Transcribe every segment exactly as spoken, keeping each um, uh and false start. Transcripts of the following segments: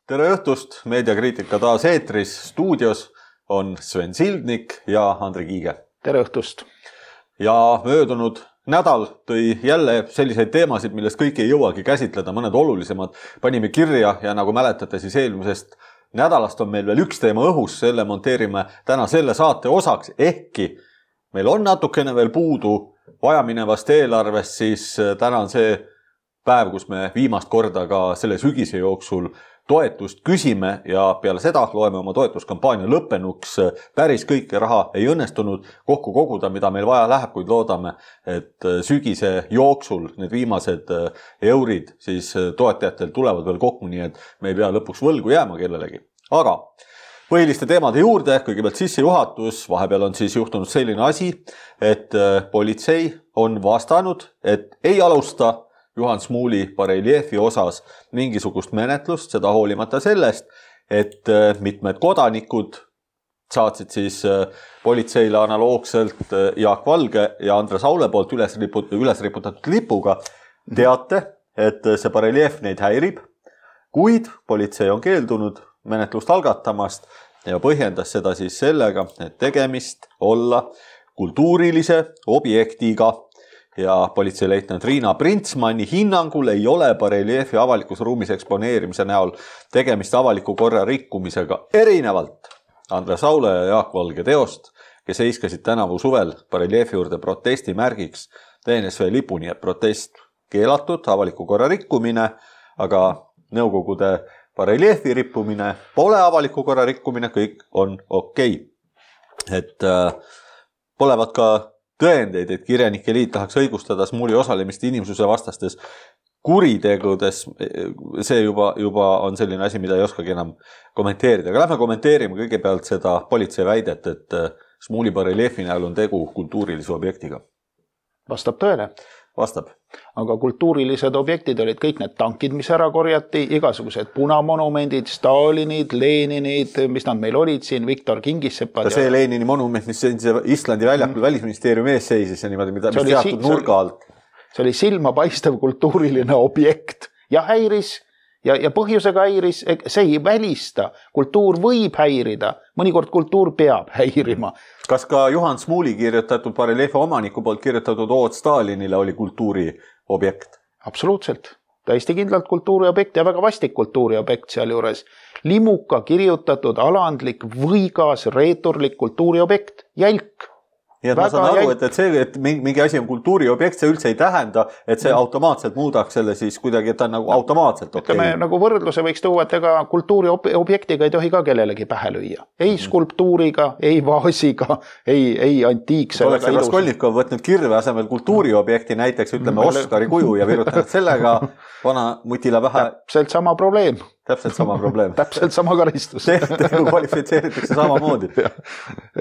Tere õhtust, meediakriitika taas eetris, stuudios on Sven Sildnik ja Andri Kiige. Tere õhtust. Ja möödunud nädal tõi jälle selliseid teemasid, millest kõiki ei jõuagi käsitleda, mõned olulisemad panime kirja ja nagu mäletate, siis eelmisest nädalast on meil veel üks teema õhus, selle monteerime täna selle saate osaks, ehkki meil on natukene veel puudu vajaminevast eelarvest, siis täna on see päev, kus me viimast korda ka selle sügise jooksul toetust küsime ja peale seda loeme oma toetuskampaania lõppenuks. Päris kõike raha ei õnnestunud kokku koguda, mida meil vaja läheb, kuid loodame, et sügise jooksul need viimased eurid siis toetajatel tulevad veel kokku, nii et me ei pea lõpuks võlgu jääma kellelegi. Aga põhiliste teemade juurde, kõigepealt sissejuhatus, vahepeal on siis juhtunud selline asi, et politsei on vastanud, et ei alusta Juhan Smuuli bareljeefi osas mingisugust menetlust, seda hoolimata sellest, et mitmed kodanikud saatsid siis politseile analoogselt Jaak Valge ja Andres Aule poolt üles, riput, üles riputatud lipuga teate, et see bareljeef neid häirib, kuid politsei on keeldunud menetlust algatamast ja põhjendas seda siis sellega, et tegemist olla kultuurilise objektiga. Ja politseileitnant Riina Printsmanni hinnangul ei ole bareljeefi avalikus ruumis eksponeerimise näol tegemist avaliku korra rikkumisega erinevalt Andres Aule ja Jaak Valge teost, kes heiskasid tänavu suvel bareljeefi juurde protesti märgiks D N S V lipu, nii et protest keelatud, avaliku korra rikkumine, aga Nõukogude bareljeefi rippumine pole avaliku korra rikkumine, kõik on okei. Et äh, polevat ka tõendeid, et Kirjanike Liit tahaks õigustada Smuuli osalemist inimsuse vastastes kuritegudes, see juba, juba on selline asi, mida ei oskagi enam kommenteerida. Aga lähme kommenteerime kõigepealt seda politsei väidet, et Smuuli bareljeefi näol on tegu kultuurilise objektiga. Vastab tõele. Vastab. Aga kultuurilised objektid olid kõik need tankid, mis ära korjati, igasugused punamonumendid, Stalinid, Leninid, mis nad meil olid siin, Viktor Kingissepad. Ka see ja... Lenini monument, mis Islandi väljakul mm. välisministeeriumi ees seisis ja niimoodi, mida, mis teatud si nurga alt. See oli silma paistev kultuuriline objekt ja häiris ja, ja põhjusega häiris, see ei välista. Kultuur võib häirida, mõnikord kultuur peab häirima. Kas ka Juhan Smuuli kirjutatud bareljeefi omaniku poolt kirjutatud ood Stalinile oli kultuuri objekt? Absoluutselt. Täiesti kindlalt kultuuri objekt ja väga vastik kultuuri objekt seal juures. Limuka kirjutatud alandlik, võigas, reeturlik kultuuri objekt. Jälk. Nii et ma saan aru, et, et see, et mingi asi on kultuuri objekt, see üldse ei tähenda, et see automaatselt muudaks selle siis kuidagi, et ta on nagu automaatselt okei. Ütleme, nagu võrdluse võiks tuua, et ega kultuuri objektiga ei tohi ka kellelegi pähe lüüa. Ei skulptuuriga, ei vaasiga, ei, ei antiikse. Oleks see Raskolnikov võtnud kirve asemel kultuuri objekti, näiteks ütleme Oskari kuju ja virutanud sellega vana mutile pähe. Täpselt sama probleem. Täpselt sama probleem. Täpselt sama karistus. Tegu kvalifitseeritakse samamoodi.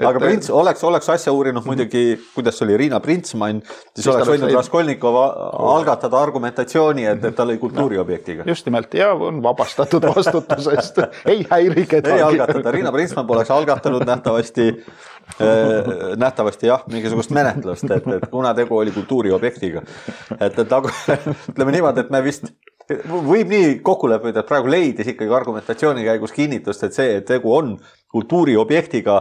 Aga Prints, oleks, oleks asja uurinud muidugi, kuidas oli Riina Printsmann, siis oleks võinud Raskolnikov algatada argumentatsiooni, et, et ta oli kultuuriobjektiga. Just nimelt, ja on vabastatud vastutusest. Ei häiri kedagi. Ei algatada. Riina Printsmann poleks algatanud nähtavasti, nähtavasti jah, mingisugust menetlust, et, et kuna tegu oli kultuuriobjektiga. Et, et nagu, ütleme niimoodi, et me vist võib nii kokku leppida, et praegu leidis ikkagi argumentatsiooni käigus kinnitust, et see, et tegu on kultuuriobjektiga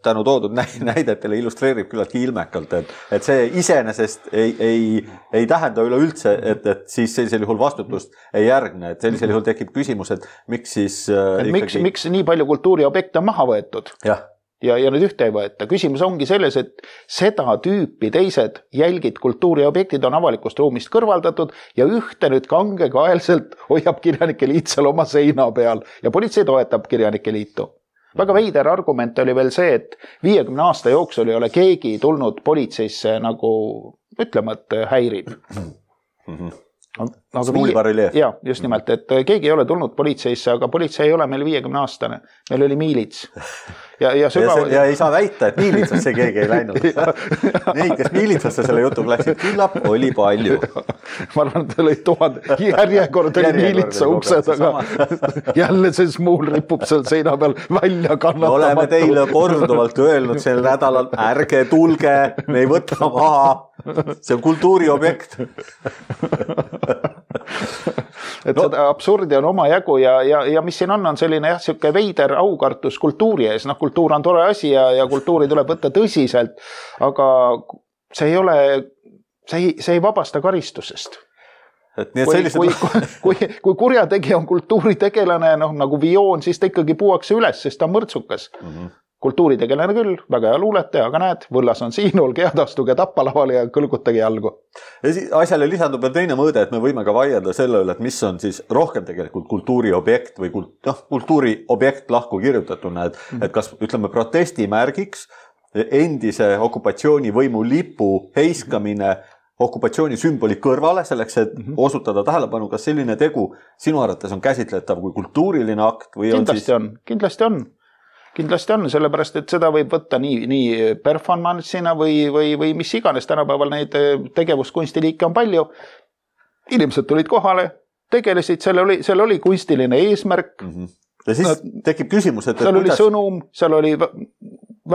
tänu toodud näidetele illustreerib küllaltki ilmekalt, et, et see iseenesest ei, ei, ei tähenda üleüldse, et, et siis sellisel juhul vastutust ei järgne, et sellisel juhul tekib küsimus, et miks siis ikkagi... Miks, miks nii palju kultuuriobjekte on maha võetud? Jah. Ja, ja nüüd ühte ei võeta. Küsimus ongi selles, et seda tüüpi teised jälgid kultuuriobjektid on avalikust ruumist kõrvaldatud ja ühte nüüd kangekaelselt hoiab Kirjanike Liit seal oma seina peal ja politsei toetab Kirjanike Liitu. Väga veider argument oli veel see, et viiekümne aasta jooksul ei ole keegi tulnud politseisse nagu ütlema, et häirib. Mm-hmm. Smuuli bareljeef. Ja, just nimelt, et keegi ei ole tulnud politseisse, aga politsei ei ole meil viiekümne aastane. Meil oli miilits. Ja, ja, sügav... ja, see, ja ei saa väita, et miilitsasse keegi ei läinud. Neid, kes miilitsasse selle jutu läksid, küllap oli palju. Ma arvan, et oli tuhande järjekord oli miilitsa ukse taga. Jälle see Smuul ripub seal seina peal välja kannatamatu. Oleme teile korduvalt öelnud sel nädalal, ärge tulge, me ei võta maha. See on kultuuriobjekt. et no. Seda absurdi on oma jagu ja, ja, ja mis siin on, on selline jah, siuke veider aukartus kultuuri ees. Noh, kultuur on tore asi ja, ja kultuuri tuleb võtta tõsiselt, aga see ei ole, see ei, see ei vabasta karistusest. Et nii, et kui, sellised... kui, kui, kui kurjategija on kultuuritegelane, noh, nagu vioon, siis ta ikkagi puuakse üles, sest ta on mõrtsukas. Mm-hmm. Kultuuritegelane küll, väga hea luulete, aga näed, võllas on siin, olge head, astuge tappalavale ja kõlgutage jalgu. Ja asjale lisandub veel teine mõõde, et me võime ka vaielda selle üle, et mis on siis rohkem tegelikult kultuuriobjekt või kult, noh, kultuuriobjekt lahku kirjutatuna, et, mm-hmm. et kas ütleme protestimärgiks endise okupatsioonivõimu lipu heiskamine okupatsiooni sümboli kõrvale, selleks, et mm-hmm. osutada tähelepanu, kas selline tegu sinu arvates on käsitletav kui kultuuriline akt või on kindlasti siis... on, kindlasti on. Kindlasti on, sellepärast, et seda võib võtta nii, nii performance'ina või, või, või mis iganes. Tänapäeval neid tegevuskunstiliike on palju. Inimesed tulid kohale, tegelesid, seal oli, seal oli kunstiline eesmärk. Mm-hmm. Ja siis no, tekib küsimus, et... Seal et oli kuidas... sõnum, seal oli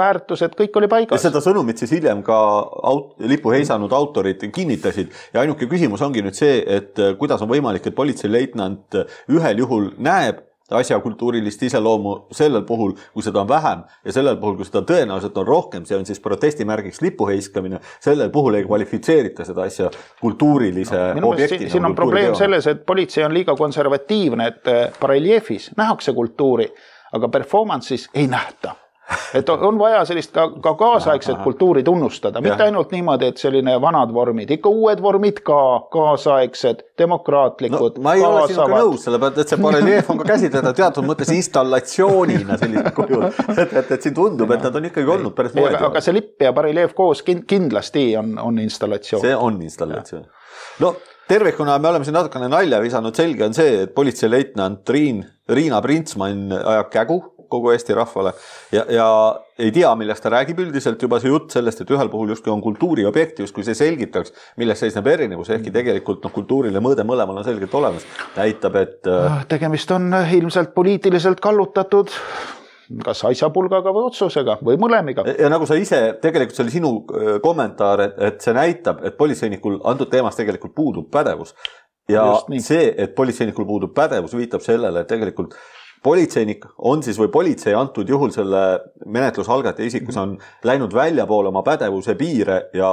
väärtused, kõik oli paigas. Ja seda sõnumit siis hiljem ka aut, lipu heisanud autorid kinnitasid. Ja ainuke küsimus ongi nüüd see, et kuidas on võimalik, et politseileitnant ühel juhul näeb asja kultuurilist iseloomu sellel puhul, kui seda on vähem ja sellel puhul, kui seda tõenäoliselt on rohkem, see on siis protestimärgiks lipu heiskamine, sellel puhul ei kvalifitseerita seda asja kultuurilise no, objektina. Siin on probleem selles, et politsei on liiga konservatiivne, et bareljeefis nähakse kultuuri, aga performance'is ei nähta. Et on vaja sellist ka, ka kaasaegset kultuuri tunnustada, mitte ainult niimoodi, et selline vanad vormid, ikka uued vormid ka, kaasaegsed, demokraatlikud. No, ma ei ole sinuga nõus, sellepärast, et see bareljeef on ka käsitleda teatud mõttes installatsioonina sellisel kujul, et, et, et siin tundub, et nad on ikkagi olnud päris moodi. Aga see lipp ja bareljeef koos kindlasti on, on installatsioon. See on installatsioon. No, tervikuna me oleme siin natukene nalja visanud, selge on see, et politseileitnant Riin, Riina Printsmann ajab kägu kogu Eesti rahvale ja, ja ei tea, millest ta räägib üldiselt juba see jutt sellest, et ühel puhul justkui on kultuuriobjekt, justkui see selgitaks, milles seisneb erinevus, ehkki tegelikult no, kultuurile mõõde mõlemal on selgelt olemas. Näitab, et... Tegemist on ilmselt poliitiliselt kallutatud kas asjapulgaga või otsusega või mõlemiga. Ja nagu sa ise, tegelikult see oli sinu kommentaar, et, et see näitab, et politseinikul antud teemas tegelikult puudub pädevus. Ja see, et politseinikul puudub pädevus, viitab sellele, et tegelikult politseinik on siis või politsei antud juhul selle menetlusalgataja isikus on läinud väljapoole oma pädevuse piire ja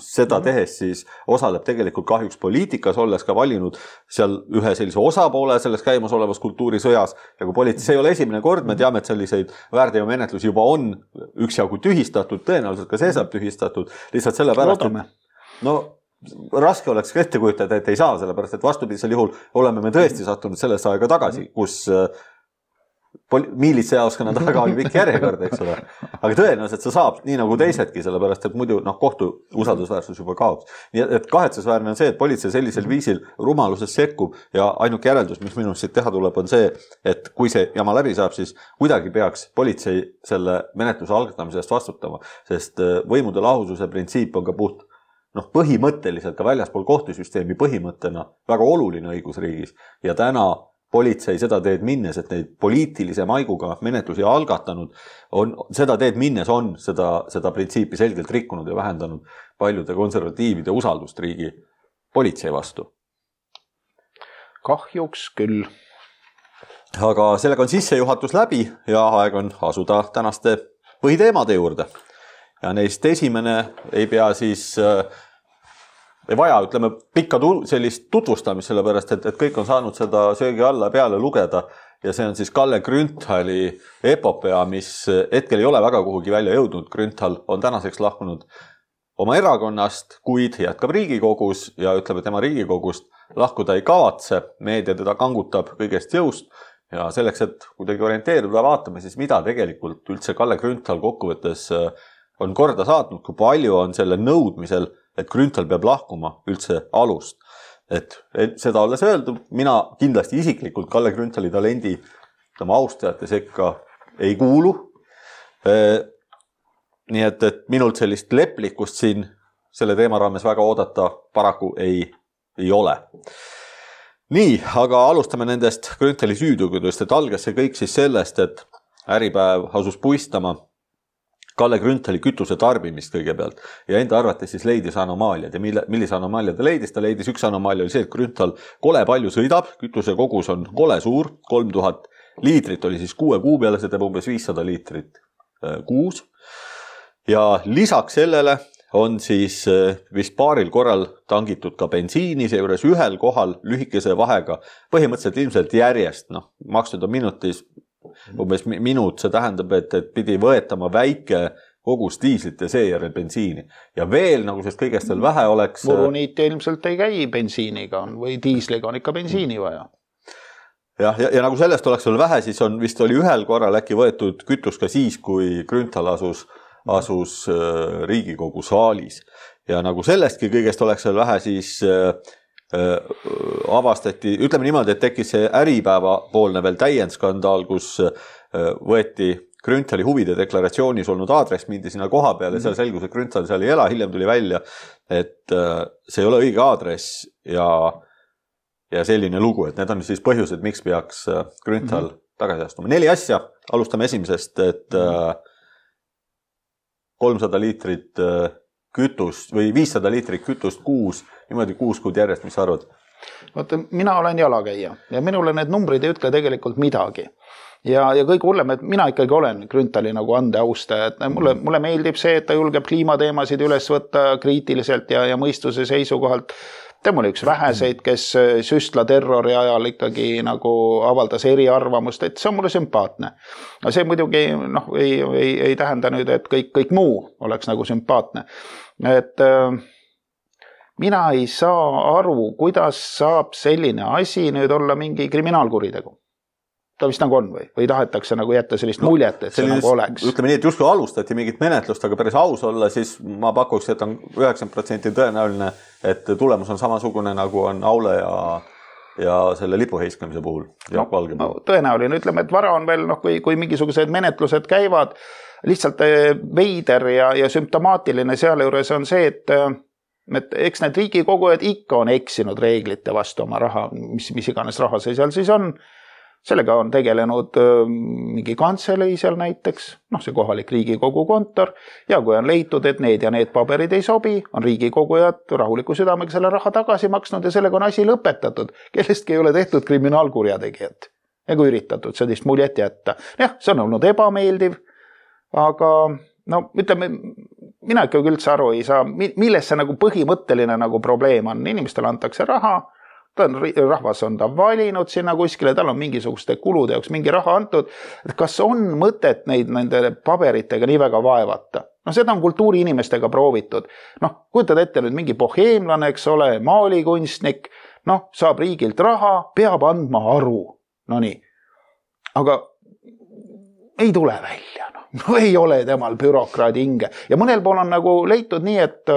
seda tehes siis osaleb tegelikult kahjuks poliitikas, olles ka valinud seal ühe sellise osapoole selles käimas olevas kultuurisõjas ja kui politsei ei ole esimene kord, me teame, et selliseid väärteomenetlusi juba on üksjagu tühistatud, tõenäoliselt ka see saab tühistatud, lihtsalt selle pärast, et no raske oleks ette kujutada, et ei saa, sellepärast, et vastupidisel juhul oleme me tõesti sattunud sellest aega tagasi, kus miilitsejaoskonna taga oli pikk järjekord, eks ole. Aga tõenäoliselt see saab nii nagu teisedki, sellepärast, et muidu noh, kohtu usaldusväärsus juba kaoks. Nii et kahetsusväärne on see, et politsei sellisel viisil rumaluses sekkub ja ainuk järeldus, mis minust siit teha tuleb, on see, et kui see jama läbi saab, siis kuidagi peaks politsei selle menetluse algatamisest vastutama, sest võimude lahususe printsiip on ka puht noh, põhimõtteliselt ka väljaspool kohtusüsteemi põhimõttena väga oluline õigusriigis ja täna politsei seda teed minnes, et neid poliitilise maiguga menetlusi algatanud, on, seda teed minnes on seda, seda printsiipi selgelt rikkunud ja vähendanud paljude konservatiivide usaldust riigi politsei vastu. Kahjuks küll. Aga sellega on sissejuhatus läbi ja aeg on asuda tänaste põhiteemade juurde. Ja neist esimene ei pea siis... ei vaja, ütleme, pikka sellist tutvustamist, sellepärast, et, et kõik on saanud seda söögi alla peale lugeda ja see on siis Kalle Grünthali epopea, mis hetkel ei ole väga kuhugi välja jõudnud. Grünthal on tänaseks lahkunud oma erakonnast, kuid jätkab Riigikogus ja ütleb, et tema Riigikogust lahkuda ei kavatse. Meedia teda kangutab kõigest jõust ja selleks, et kuidagi orienteeruda, vaatame siis, mida tegelikult üldse Kalle Grünthal kokkuvõttes on korda saatnud, kui palju on selle nõudmisel, et Grünthal peab lahkuma üldse alust. Et seda olles öeldud, mina kindlasti isiklikult Kalle Grünthali talendi tema austajate sekka ei kuulu. Nii et, et minult sellist leplikust siin selle teema raames väga oodata paraku ei, ei ole. Nii, aga alustame nendest Grünthali süüdugudest, et algas see kõik siis sellest, et Äripäev asus puistama Kalle Grünthali kütuse tarbimist kõigepealt ja enda arvates siis leidis anomaaliad ja mille, millise anomaalia ta leidis, ta leidis üks anomaalia oli see, et Grünthal kole palju sõidab, kütuse kogus on kole suur, kolm tuhat liitrit oli siis kuue kuu peale, see teeb umbes viissada liitrit kuus ja lisaks sellele on siis vist paaril korral tangitud ka bensiini, seejuures ühel kohal lühikese vahega, põhimõtteliselt ilmselt järjest, noh, makstud on minutis, umbes minut, see tähendab, et, et pidi võetama väike kogus diislit ja seejärel bensiini. Ja veel, nagu sest kõigest veel vähe oleks... Muruniit ilmselt ei käi bensiiniga on, või diisliga on ikka bensiini vaja. Ja, ja, ja nagu sellest oleks veel vähe, siis on vist oli ühel korral äkki võetud kütus ka siis, kui Grünthal asus asus Riigikogu saalis. Ja nagu sellestki kõigest oleks veel vähe, siis avastati, ütleme niimoodi, et tekkis see Äripäeva poolne veel täiendskandaal, kus võeti Grünthali huvide deklaratsioonis olnud aadress, mindi sinna koha peale ja seal selgus, et Grünthal seal ei ela, hiljem tuli välja, et see ei ole õige aadress ja, ja selline lugu, et need on siis põhjused, miks peaks Grünthal mm-hmm. tagasi astuma. Neli asja, alustame esimesest, et mm-hmm. kolmsada liitrit kütust või viissada liitrit kütust kuus, niimoodi kuus kuud järjest, mis sa arvad? Vaata, mina olen jalakäija ja minule need numbrid ei ütle tegelikult midagi. Ja, ja kõik hullem, et mina ikkagi olen Grünthali nagu andeaustaja, et mulle, mulle meeldib see, et ta julgeb kliimateemasid üles võtta kriitiliselt ja, ja mõistuse seisukohalt. Tema oli üks väheseid, kes süstla terrori ajal ikkagi nagu avaldas eriarvamust, et see on mulle sümpaatne. No see muidugi noh, ei, ei, ei tähenda nüüd, et kõik, kõik muu oleks nagu sümpaatne. Et äh, mina ei saa aru, kuidas saab selline asi nüüd olla mingi kriminaalkuritegu. Ta vist nagu on või? Või tahetakse nagu jätta sellist no, muljet, et see sellist, nagu oleks? Ütleme nii, et justkui alustati mingit menetlust, aga päris aus olla, siis ma pakuks, et on üheksakümmend protsenti tõenäoline, et tulemus on samasugune, nagu on Aule ja, ja selle lipu heiskamise puhul. No, no, tõenäoline, ütleme, et vara on veel, noh, kui, kui mingisugused menetlused käivad, lihtsalt veider ja, ja sümptomaatiline seal juures on see, et et eks need riigikogujad ikka on eksinud reeglite vastu oma raha, mis, mis iganes raha see seal siis on. Sellega on tegelenud mingi kantselei seal näiteks, noh see kohalik riigikogu kontor ja kui on leitud, et need ja need paberid ei sobi, on riigikogujad rahuliku südamega selle raha tagasi maksnud ja sellega on asi lõpetatud. Kellestki ei ole tehtud kriminaalkurjategijat ega üritatud sellist muljet jätta. Jah, see on olnud ebameeldiv, aga no ütleme, mina ikka üldse aru ei saa, milles see nagu põhimõtteline nagu probleem on. Inimestele antakse raha, ta on, rahvas on ta valinud sinna kuskile, tal on mingisuguste kulude jaoks mingi raha antud. Kas on mõtet neid nende paberitega nii väga vaevata? No seda on kultuuriinimestega proovitud. Noh, kujutad ette nüüd mingi boheemlane, eks ole, maalikunstnik, noh, saab riigilt raha, peab andma aru. No nii. Aga ei tule välja. No, no ei ole temal bürokraadi hinge. Ja mõnel pool on nagu leitud nii, et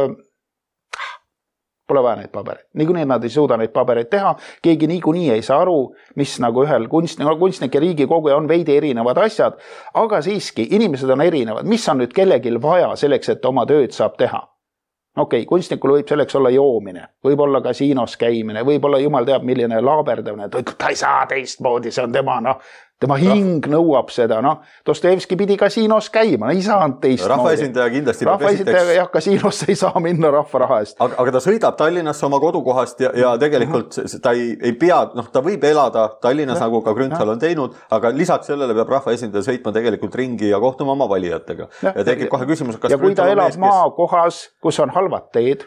pole vaja neid pabereid. Niikuinii nad ei suuda neid pabereid teha. Keegi niikuinii ei saa aru, mis nagu ühel kunstnik, kunstnik ja riigikoguja on veidi erinevad asjad, aga siiski inimesed on erinevad. Mis on nüüd kellegil vaja selleks, et oma tööd saab teha? Okei, kunstnikul võib selleks olla joomine, võib olla kasiinos käimine, võib olla jumal teab, milline laaberdamine, ta ei saa teistmoodi, see on tema, noh, tema hing nõuab seda, noh, Dostojevski pidi kasiinos käima, ei saanud teistmoodi. Rahvaesindaja kindlasti. Rahvaesindaja jah, kasiinosse ei saa minna rahva raha eest. Aga, aga ta sõidab Tallinnasse oma kodukohast ja, ja tegelikult ta ei, ei pea, noh, ta võib elada Tallinnas, ja, nagu ka Grünthal on teinud, aga lisaks sellele peab rahvaesindaja sõitma tegelikult ringi ja kohtuma oma valijatega. Ja, ja tekib kohe küsimus, kas ja kui ta elab maakohas, kus on halvad teed,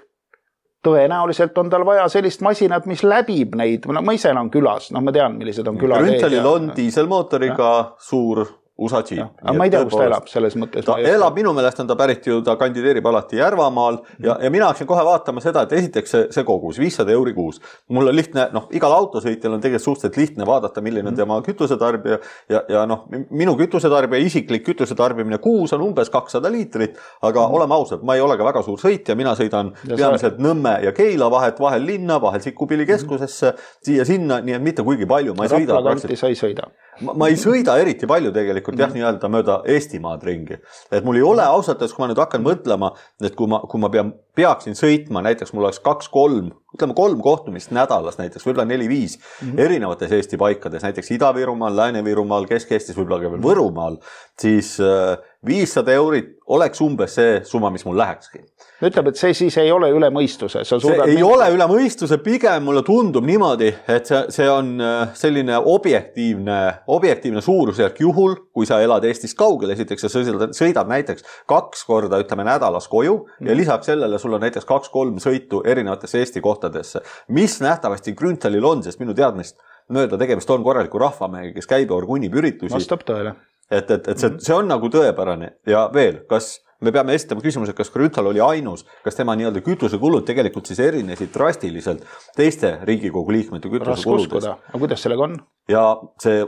tõenäoliselt on tal vaja sellist masinat, mis läbib neid, no ma ise elan külas, noh ma tean, millised on küla. Grünthalil on diiselmootoriga suur U S A Jeep. Aga ma ei tea, kus ta elab selles mõttes. Ta elab, minu meelest on ta pärit ju, ta kandideerib alati Järvamaal ja, ja mina hakkasin kohe vaatama seda, et esiteks see, see kogus, viissada euri kuus. Mul on lihtne, noh, igal autosõitjal on tegelikult suhteliselt lihtne vaadata, milline on tema kütusetarbija ja, ja noh, minu kütusetarbija, isiklik kütusetarbimine kuus on umbes kakssada liitrit, aga mm. oleme ausad, ma ei ole ka väga suur sõitja, mina sõidan ja peamiselt sa... Nõmme ja Keila vahet, vahel linna, vahel Sikkupilli keskusesse, mm. siia sinna, nii et mitte kuigi palju. Ma ei sõida, Raplakanti sa ei sõida. Ma, ma ei sõida eriti palju tegelikult jah, nii-öelda mööda Eestimaad ringi. Et mul ei ole ausalt, kui ma nüüd hakkan mõtlema, et kui ma, kui ma pean, peaksin sõitma, näiteks mul oleks kaks, kolm, ütleme kolm kohtumist nädalas näiteks, võib-olla neli, viis mm-hmm. erinevates Eesti paikades, näiteks Ida-Virumaal, Lääne-Virumaal, Kesk-Eestis, võib-olla ka veel Võrumaal, siis äh, viissada eurit oleks umbes see summa, mis mul lähekski. Ütleb, et see siis ei ole üle mõistuse. Sa see ei mingi... ole üle mõistuse, pigem mulle tundub niimoodi, et see, see on selline objektiivne, objektiivne suurusjärk juhul, kui sa elad Eestist kaugel, esiteks sa sõidad, sõidad näiteks kaks korda, ütleme nädalas koju mm. ja lisaks sellele sul on näiteks kaks-kolm sõitu erinevatesse Eesti kohtadesse, mis nähtavasti Grünthalil on, sest minu teadmist mööda tegemist on korraliku rahvamehega, kes käib ja orgunnib üritusi. Vastab tõele. Et, et, et see, see on nagu tõepärane ja veel, kas me peame esitama küsimuse, kas Grünthal oli ainus, kas tema nii-öelda kütusekulud tegelikult siis erinesid drastiliselt teiste Riigikogu liikmete kütusekuludest. Aga kuidas sellega on? Ja see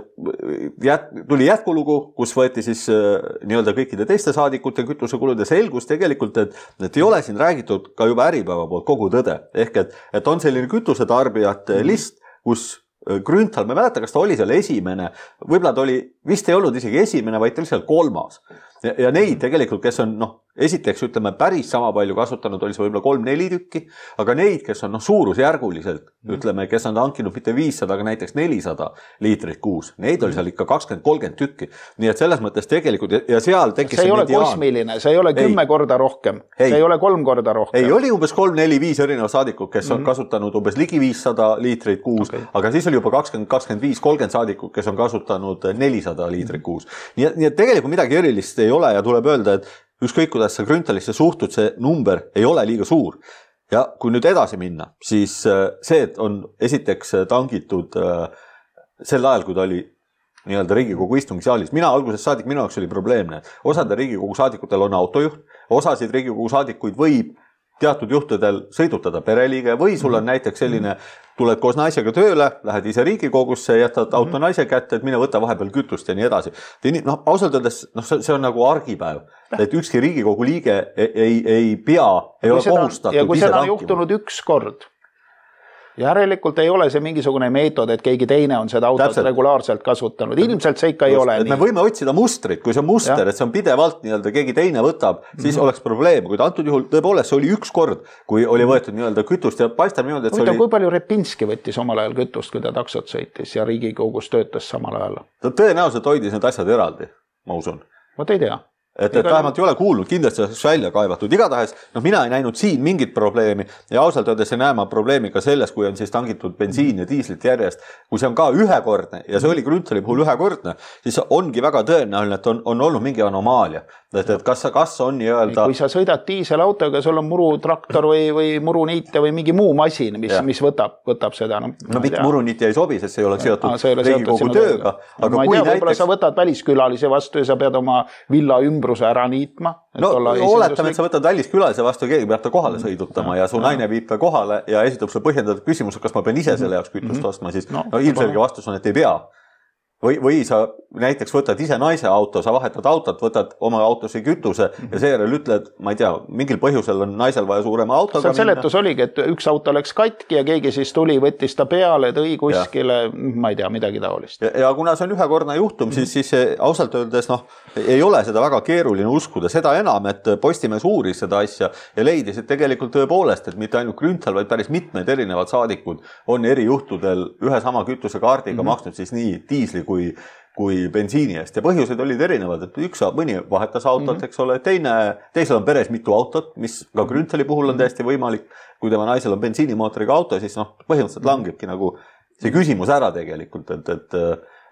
jät, tuli jätkulugu, kus võeti siis nii-öelda kõikide teiste saadikute kütusekulud ja selgus tegelikult, et, et ei ole siin räägitud ka juba Äripäeva poolt kogu tõde. Ehk et, et on selline kütusetarbijate list, kus Grünthal, ma mäleta, kas ta oli seal esimene, võib-olla ta oli, vist ei olnud isegi esimene, vaid ta oli seal kolmas. Ja, ja neid tegelikult, kes on, noh, esiteks ütleme päris sama palju kasutanud, oli see võib-olla kolm-neli tükki, aga neid, kes on noh, suurusjärguliselt, ütleme, kes on hankinud mitte viissada, aga näiteks nelisada liitrit kuus, neid oli seal ikka kakskümmend kolmkümmend tükki. Nii et selles mõttes tegelikult, ja seal tekkis see ei ole mediaan. Kosmiline, see ei ole kümme ei. korda rohkem, ei. see ei ole kolm korda rohkem. Ei, oli umbes kolm-neli-viis erinevat saadikut, kes on mm-hmm. kasutanud umbes ligi viissada liitrit kuus, okay. aga siis oli juba kakskümmend, kakskümmend viis, kolmkümmend saadikut, kes on kasutanud nelisada liitrit kuus. Nii, nii et tegelikult midagi erilist ei ole ja tuleb öelda, et ükskõik kuidas sa Grünthalisse suhtud, see number ei ole liiga suur. Ja kui nüüd edasi minna, siis see, et on esiteks tangitud sel ajal, kui ta oli nii-öelda Riigikogu istungisaalis. Mina alguses saadik, minu jaoks oli probleemne. Osade Riigikogu saadikutel on autojuht, osasid Riigikogu saadikuid võib teatud juhtudel sõidutada pereliige või sul on näiteks selline, tuled koos naisega tööle, lähed ise Riigikogusse, jätad auto naise kätte, et mine võta vahepeal kütust ja nii edasi. No, ausalt öeldes, no, see on nagu argipäev, et ükski Riigikogu liige ei, ei, ei pea, ei ole kohustatud. Ja kui seda on juhtunud üks kord, järelikult ei ole see mingisugune meetod, et keegi teine on seda autot Täpselt. regulaarselt kasutanud. Ilmselt see ikka ei Just, ole nii. Me võime otsida mustrit, kui see on muster, ja. et see on pidevalt nii-öelda keegi teine võtab, siis mm -hmm. oleks probleem. Kuid antud juhul tõepoolest see oli üks kord, kui oli võetud nii-öelda kütust ja paistab niimoodi, et see Võita, oli... Kui palju Repinski võttis omal ajal kütust, kui ta taksot sõitis ja Riigikogus töötas samal ajal? Ta tõenäoliselt hoidis need asjad eraldi, ma usun. Vot ei tea. Et, et vähemalt ei ole kuulnud, kindlasti oleks välja kaevatud. Igatahes, noh, mina ei näinud siin mingit probleemi ja ausalt öeldes ei näe ma probleemi ka selles, kui on siis tangitud bensiin ja diislit järjest. Kui see on ka ühekordne ja see oli Grünthali puhul ühekordne, siis ongi väga tõenäoline, et on, on olnud mingi anomaalia. Et, et kas, kas on nii-öelda... Kui sa sõidad diiselautoga, sul on murutraktor või, või muruniite või mingi muu masin, mis, mis võtab, võtab seda. No, no mitte muruniit ei sobi, sest see ei ole seotud Riigikogu tööga. Aga ma ei tea, võib-olla sa võtad väliskülalise vastu ja sa pead oma villa ümbruse ära niitma. No oletame, et sa võtad väliskülalise vastu, keegi peab ta kohale sõidutama ja su naine viib ta kohale ja esitab sulle põhjendatud küsimus, kas ma pean ise selle jaoks kütust ostma, siis no, no, ilmselge vastus on, et ei pea. Või, või sa näiteks võtad ise naise auto, sa vahetad autot, võtad oma autosse kütuse ja seejärel ütled, ma ei tea, mingil põhjusel on naisel vaja suurema autoga minna. Seletus oligi, et üks auto läks katki ja keegi siis tuli, võttis ta peale, tõi kuskile, ja. ma ei tea, midagi taolist. Ja, ja kuna see on ühekordne juhtum, siis, siis ausalt öeldes noh, ei ole seda väga keeruline uskuda. Seda enam, et Postimees uuris seda asja ja leidis, et tegelikult tõepoolest, et mitte ainult Grünthal, vaid päris mitmed erinevad saadikud on eri juhtudel ühe sama kütusekaardiga mm-hmm. maksnud siis nii diisli kui, kui bensiini eest. Ja põhjused olid erinevad, et üks mõni vahetas autot, eks ole, teine, teisel on peres mitu autot, mis ka Grünthali puhul on täiesti võimalik. Kui tema naisel on bensiinimootoriga auto, siis noh, põhimõtteliselt langebki nagu see küsimus ära tegelikult, et, et,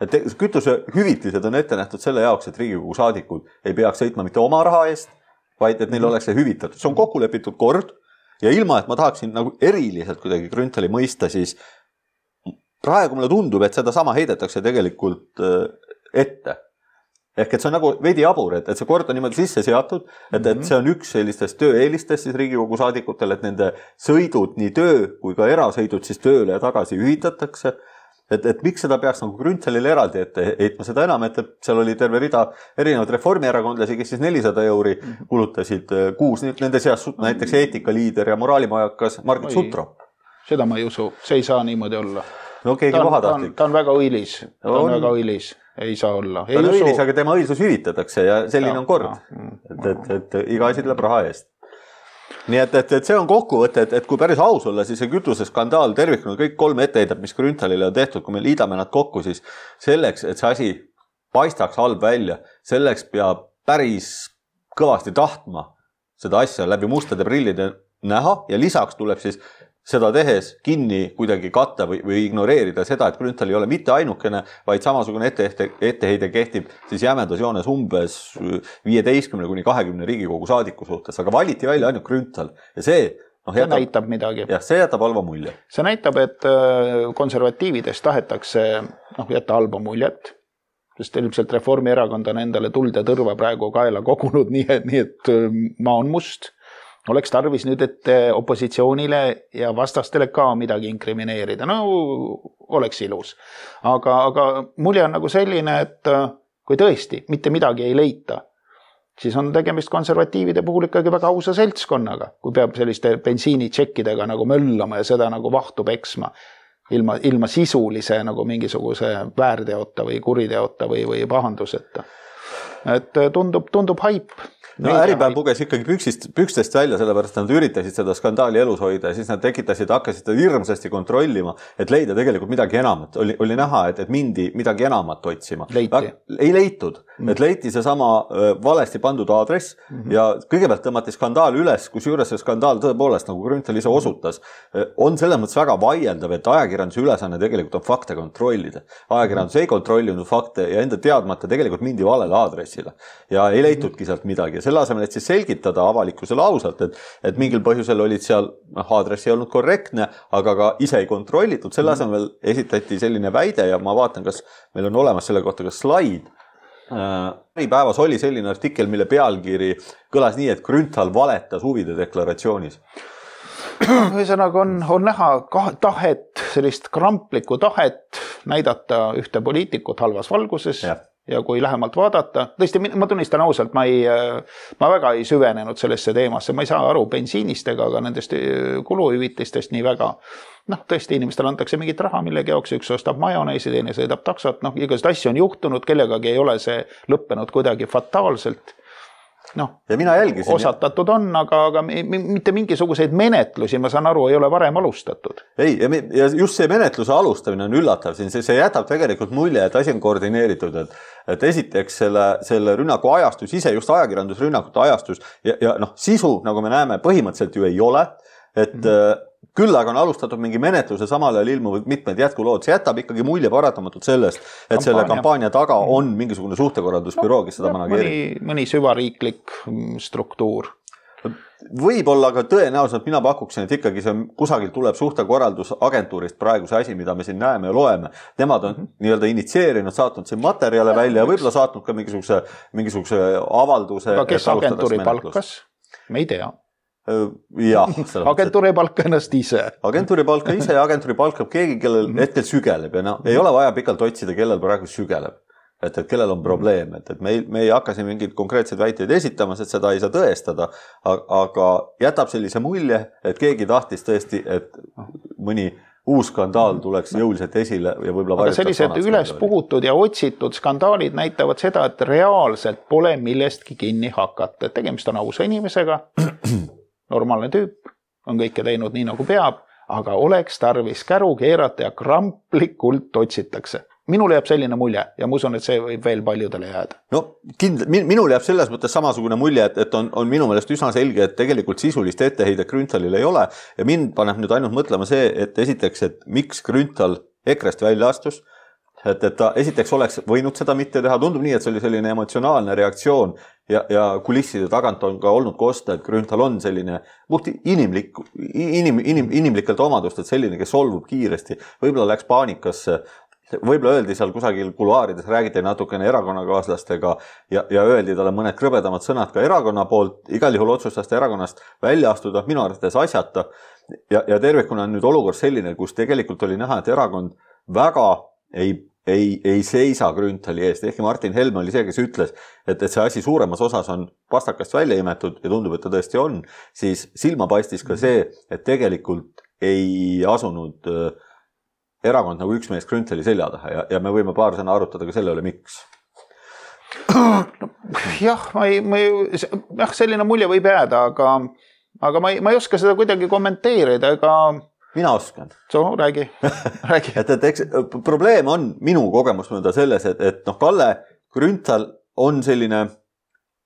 et kütuse hüvitised on ette nähtud selle jaoks, et Riigikogu saadikud ei peaks sõitma mitte oma raha eest, vaid et neil oleks see hüvitatud. See on kokku lepitud kord ja ilma, et ma tahaksin nagu eriliselt kuidagi Grünthali mõista, siis praegu mulle tundub, et seda sama heidetakse tegelikult ette. Ehk et see on nagu veidi jabur, et, et see kord on niimoodi sisse seatud, et, et see on üks sellistest tööeelistest siis Riigikogu saadikutel, et nende sõidud, nii töö kui ka erasõidud siis tööle ja tagasi hüvitatakse. Et, et miks seda peaks nagu Grünthalile eraldi ette heitma, seda enam, et, et seal oli terve rida erinevad reformierakondlasi, kes siis nelisada euri kulutasid kuus, nende seas näiteks eetikaliider ja moraalimajakas Margit Sutrop. Seda ma ei usu, see ei saa niimoodi olla. No keegi pahatahtlik. Ta on väga õilis, ta on, on väga õilis, ei saa olla. Ta on õilis, aga tema õilsus hüvitatakse ja selline ja, on kord, ja. Et, et, et iga asi tuleb raha eest. Nii et, et, et see on kokkuvõte, et, et kui päris aus olla, siis see kütuseskandaal tervikuna kõik kolm etteheidet, mis Grünthalile on tehtud, kui me liidame nad kokku, siis selleks, et see asi paistaks halb välja, selleks peab päris kõvasti tahtma seda asja läbi mustade prillide näha ja lisaks tuleb siis seda tehes kinni kuidagi katta või, või ignoreerida seda, et Grünthal ei ole mitte ainukene, vaid samasugune etteheide, etteheide kehtib siis jämedas joones umbes viieteistkümne kuni kahekümne Riigikogu saadiku suhtes, aga valiti välja ainult Grünthal ja see noh, see jätab, näitab midagi. Jah, see jätab halva mulje. See näitab, et konservatiividest tahetakse noh, jätta halba muljet, sest ilmselt Reformierakond on endale tuld ja tõrva praegu kaela kogunud, nii et, nii et maa on must. Oleks tarvis nüüd, et opositsioonile ja vastastele ka midagi inkrimineerida. No, oleks ilus. Aga, aga mulje on nagu selline, et kui tõesti mitte midagi ei leita, siis on tegemist konservatiivide puhul ikkagi väga ausa seltskonnaga, kui peab selliste bensiinitšekkidega nagu möllama ja seda nagu vahtu peksma ilma, ilma sisulise nagu mingisuguse väärteota või kuriteota või, või pahanduseta. Et tundub, tundub haip. No Äripäev puges ikkagi püksist, pükstest välja, sellepärast nad üritasid seda skandaali elus hoida ja siis nad tekitasid, hakkasid seda hirmsasti kontrollima, et leida tegelikult midagi enamat. Oli, oli näha, et, et mindi midagi enamat otsima. Leiti. Ei leitud, mm. et leiti see sama valesti pandud aadress mm -hmm. ja kõigepealt tõmmati skandaal üles, kus juures see skandaal tõepoolest, nagu Grünthal ise osutas, on selles mõttes väga vaieldav, et ajakirjanduse ülesanne tegelikult on fakte kontrollida. Ajakirjandus mm -hmm. ei kontrollinud fakte ja enda teadmata tegelikult mindi valele aadressile ja ei leitudki sealt midagi. Selle asemel, et siis selgitada avalikkusele ausalt, et, et mingil põhjusel olid seal, noh, aadress ei olnud korrektne, aga ka ise ei kontrollitud. Selle asemel esitati selline väide ja ma vaatan, kas meil on olemas selle kohta ka slaid. Äripäevas oli selline artikkel, mille pealkiri kõlas nii, et Grünthal valetas huvide deklaratsioonis. Ühesõnaga on, on näha tahet, sellist kramplikku tahet näidata ühte poliitikut halvas valguses. Ja. Ja kui lähemalt vaadata, tõesti, ma tunnistan ausalt, ma, ei, ma väga ei süvenenud sellesse teemasse, ma ei saa aru bensiinist ega ka nendest kuluhüvitistest nii väga. Noh, tõesti, inimestele antakse mingit raha millegi jaoks, üks ostab majoneesi, teine sõidab taksot, noh, igast asju on juhtunud, kellegagi ei ole see lõppenud kuidagi fataalselt. Noh, ja mina jälgisin, osatatud on, aga, aga mitte mingisuguseid menetlusi, ma saan aru, ei ole varem alustatud. Ei, ja, ja just see menetluse alustamine on üllatav siin, see, see jätab tegelikult mulje, et asi on koordineeritud, et, et esiteks selle, selle rünnaku ajastus, ise just ajakirjandusrünnakute ajastus ja, ja noh, sisu, nagu me näeme, põhimõtteliselt ju ei ole, et mm-hmm. küll aga on alustatud mingi menetluse, samal ajal ilmuvad mitmed jätkulood. See jätab ikkagi mulje paratamatult sellest, et kampaania. Selle kampaania taga on mingisugune suhtekorraldusbüroo, kes seda manageerib. Mõni, mõni süvariiklik struktuur. Võib-olla ka tõenäoliselt mina pakuksin, et ikkagi see kusagil tuleb suhtekorraldusagentuurist praegu see asi, mida me siin näeme ja loeme. Nemad on mm-hmm. nii-öelda initsieerinud, saatnud siin materjale välja ja võib-olla saatnud ka mingisuguse, mingisuguse avalduse. Aga kes agentuuri palkas? Me ei tea. Ja, agentuuri palka ennast ise. Agentuuri palka ise ja agentuuri palkab keegi, kellel hetkel sügeleb ja no, ei ole vaja pikalt otsida, kellel praegu sügeleb. Et, et kellel on probleem, et, et me, ei, me ei hakka siin mingid konkreetsed väiteid esitamas, et seda ei saa tõestada, aga jätab sellise mulje, et keegi tahtis tõesti, et mõni uus skandaal tuleks jõuliselt esile ja võib-olla aga sellised üles puhutud ja otsitud skandaalid näitavad seda, et reaalselt pole millestki kinni hakata. Tegemist on ausa inimesega, normaalne tüüp, on kõike teinud nii nagu peab, aga oleks tarvis käru keerata ja kramplikult otsitakse. Minul jääb selline mulje ja ma usun, et see võib veel paljudele jääda. No kindl, minul jääb selles mõttes samasugune mulje, et, et on, on minu meelest üsna selge, et tegelikult sisulist etteheidet Grünthalil ei ole ja mind paneb nüüd ainult mõtlema see, et esiteks, et miks Grünthal Ekrest välja astus, et, et ta esiteks oleks võinud seda mitte teha, tundub nii, et see oli selline emotsionaalne reaktsioon ja, ja kulisside tagant on ka olnud kosta, et Grünthal on selline puht inimlik, inim, inim, inimlikelt omadust, et selline, kes solvub kiiresti, võib-olla läks paanikasse. Võib-olla öeldi seal kusagil kuluaarides, räägiti natukene erakonnakaaslastega ja, ja öeldi talle mõned krõbedamad sõnad ka erakonna poolt, igal juhul otsustas ta erakonnast välja astuda, minu arvates asjata ja, ja tervikuna on nüüd olukord selline, kus tegelikult oli näha, et erakond väga ei, ei, ei seisa Grünthali eest, ehkki Martin Helme oli see, kes ütles, et, et see asi suuremas osas on pastakast välja imetud ja tundub, et ta tõesti on, siis silma paistis ka see, et tegelikult ei asunud erakond nagu üks mees Grünthali selja taha ja, ja me võime paar sõna arutada ka selle üle, miks. No, jah, ma ei, ma ei, jah, selline mulje võib jääda, aga, aga ma ei, ma ei oska seda kuidagi kommenteerida, ega... Mina oskan. So, räägi, räägi. et, et eks, probleem on minu kogemus mõnda selles, et, et noh, Kalle Grünthal on selline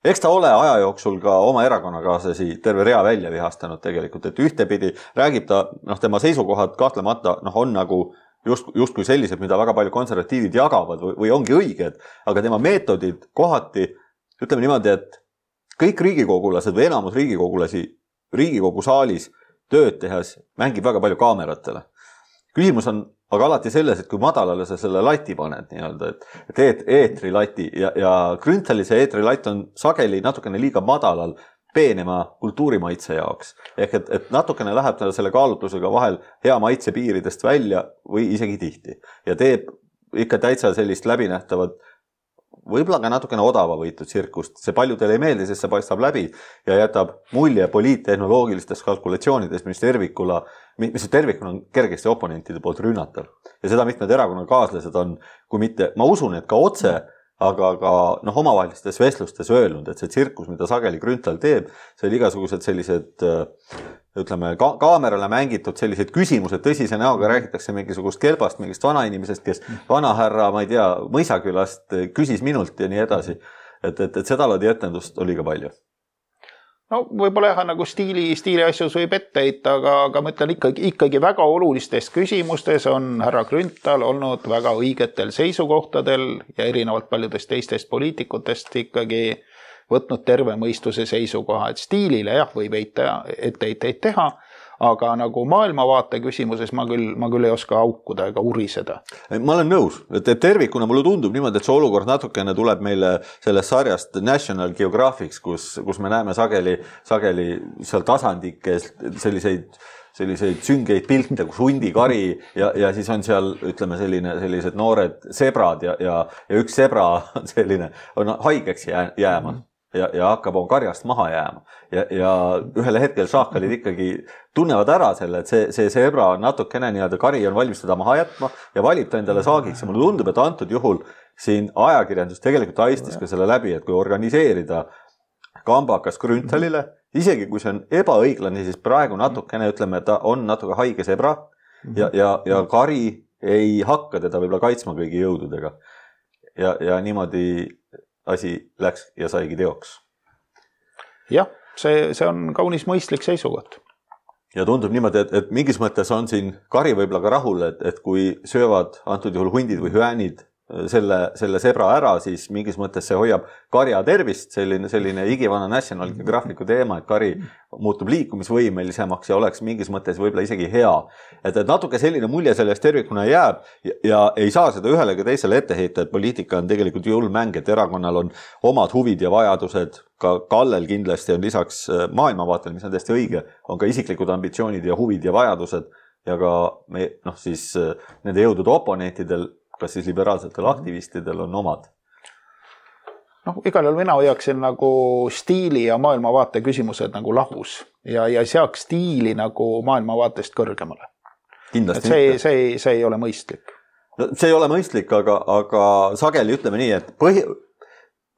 eks ta ole aja jooksul ka oma erakonnakaaslasi terve rea välja vihastanud tegelikult, et ühtepidi räägib ta, noh, tema seisukohad kahtlemata, noh, on nagu just, justkui sellised, mida väga palju konservatiivid jagavad või, või ongi õiged, aga tema meetodid kohati, ütleme niimoodi, et kõik riigikogulased või enamus riigikogulasi Riigikogu saalis tööd tehes mängib väga palju kaameratele. Küsimus on aga alati selles, et kui madalale sa selle lati paned nii-öelda, et, et eetrilati ja, ja Grünthali see eetrilatt on sageli natukene liiga madalal peenema kultuurimaitse jaoks. Ehk et, et natukene läheb ta selle kaalutlusega vahel hea maitse piiridest välja või isegi tihti. Ja teeb ikka täitsa sellist läbinähtavat, võib-olla ka natukene odava võitud tsirkust. See paljudele ei meeldi, sest see paistab läbi ja jätab mulje poliittehnoloogilistest kalkulatsioonidest, mis tervikula, mis tervikuna on kergesti oponentide poolt rünnatav. Ja seda mitmed erakonnakaaslased on, kui mitte, ma usun, et ka otse, aga ka noh, omavahelistes vestlustes öelnud, et see tsirkus, mida sageli Grünthal teeb, see oli igasugused sellised, ütleme, ka kaamerale mängitud sellised küsimused, tõsise näoga räägitakse mingisugust kelbast, mingist vanainimesest, kes vanahärra, ma ei tea, Mõisakülast küsis minult ja nii edasi. Et, et, et seda laadi etendust oli ka palju. No võib-olla jah, nagu stiili, stiili asjus võib ette heita, aga, aga ma ütlen ikkagi, ikkagi väga olulistes küsimustes on härra Grünthal olnud väga õigetel seisukohtadel ja erinevalt paljudest teistest poliitikutest ikkagi võtnud terve mõistuse seisukoha, et stiilile jah, võib heita, ette heiteid teha, aga nagu maailmavaate küsimuses ma küll, ma küll ei oska aukuda ega uriseda. Ma olen nõus, et tervikuna mulle tundub niimoodi, et see olukord natukene tuleb meile sellest sarjast National Geographics, kus, kus me näeme sageli, sageli seal tasandikes selliseid, selliseid süngeid pilte, kus hundikari ja, ja siis on seal, ütleme, selline, sellised noored sebrad ja, ja, ja üks sebra on selline, on haigeks jää, jääma. Ja, ja hakkab on karjast maha jääma. Ja, ja ühele hetkel šahkalid ikkagi tunnevad ära selle, et see, see sebra on natukene nii-öelda kari on valmis teda maha jätma ja valib ta endale saagiks. Ja mulle tundub, et antud juhul siin ajakirjandus tegelikult aistis ka selle läbi, et kui organiseerida kambakas Grünthalile, isegi kui see on ebaõiglane, siis praegu natukene ütleme, et ta on natuke haige sebra ja, ja, ja kari ei hakka teda võib-olla kaitsma kõigi jõududega. Ja, ja niimoodi asi läks ja saigi teoks. Jah, see, see on kaunis mõistlik seisukoht. Ja tundub niimoodi, et, et mingis mõttes on siin kari võib-olla ka rahul, et, et kui söövad antud juhul hundid või hüänid selle, selle sebra ära, siis mingis mõttes see hoiab karja tervist, selline, selline igivana National Geographicu teema, et kari muutub liikumisvõimelisemaks ja oleks mingis mõttes võib-olla isegi hea. Et, et natuke selline mulje sellest tervikuna jääb ja, ja ei saa seda ühelegi teisele ette heita, et poliitika on tegelikult julm mäng, et erakonnal on omad huvid ja vajadused, ka Kallel kindlasti on lisaks maailmavaatel, mis on täiesti õige, on ka isiklikud ambitsioonid ja huvid ja vajadused ja ka me, noh, siis nende jõudude oponentidel, kas siis liberaalsetel aktivistidel on omad? noh, igal juhul mina hoiaksin nagu stiili ja maailmavaate küsimused nagu lahus ja, ja seaks stiili nagu maailmavaatest kõrgemale. Kindlasti see, see, see ei ole mõistlik. No, see ei ole mõistlik, aga, aga sageli ütleme nii, et põhi,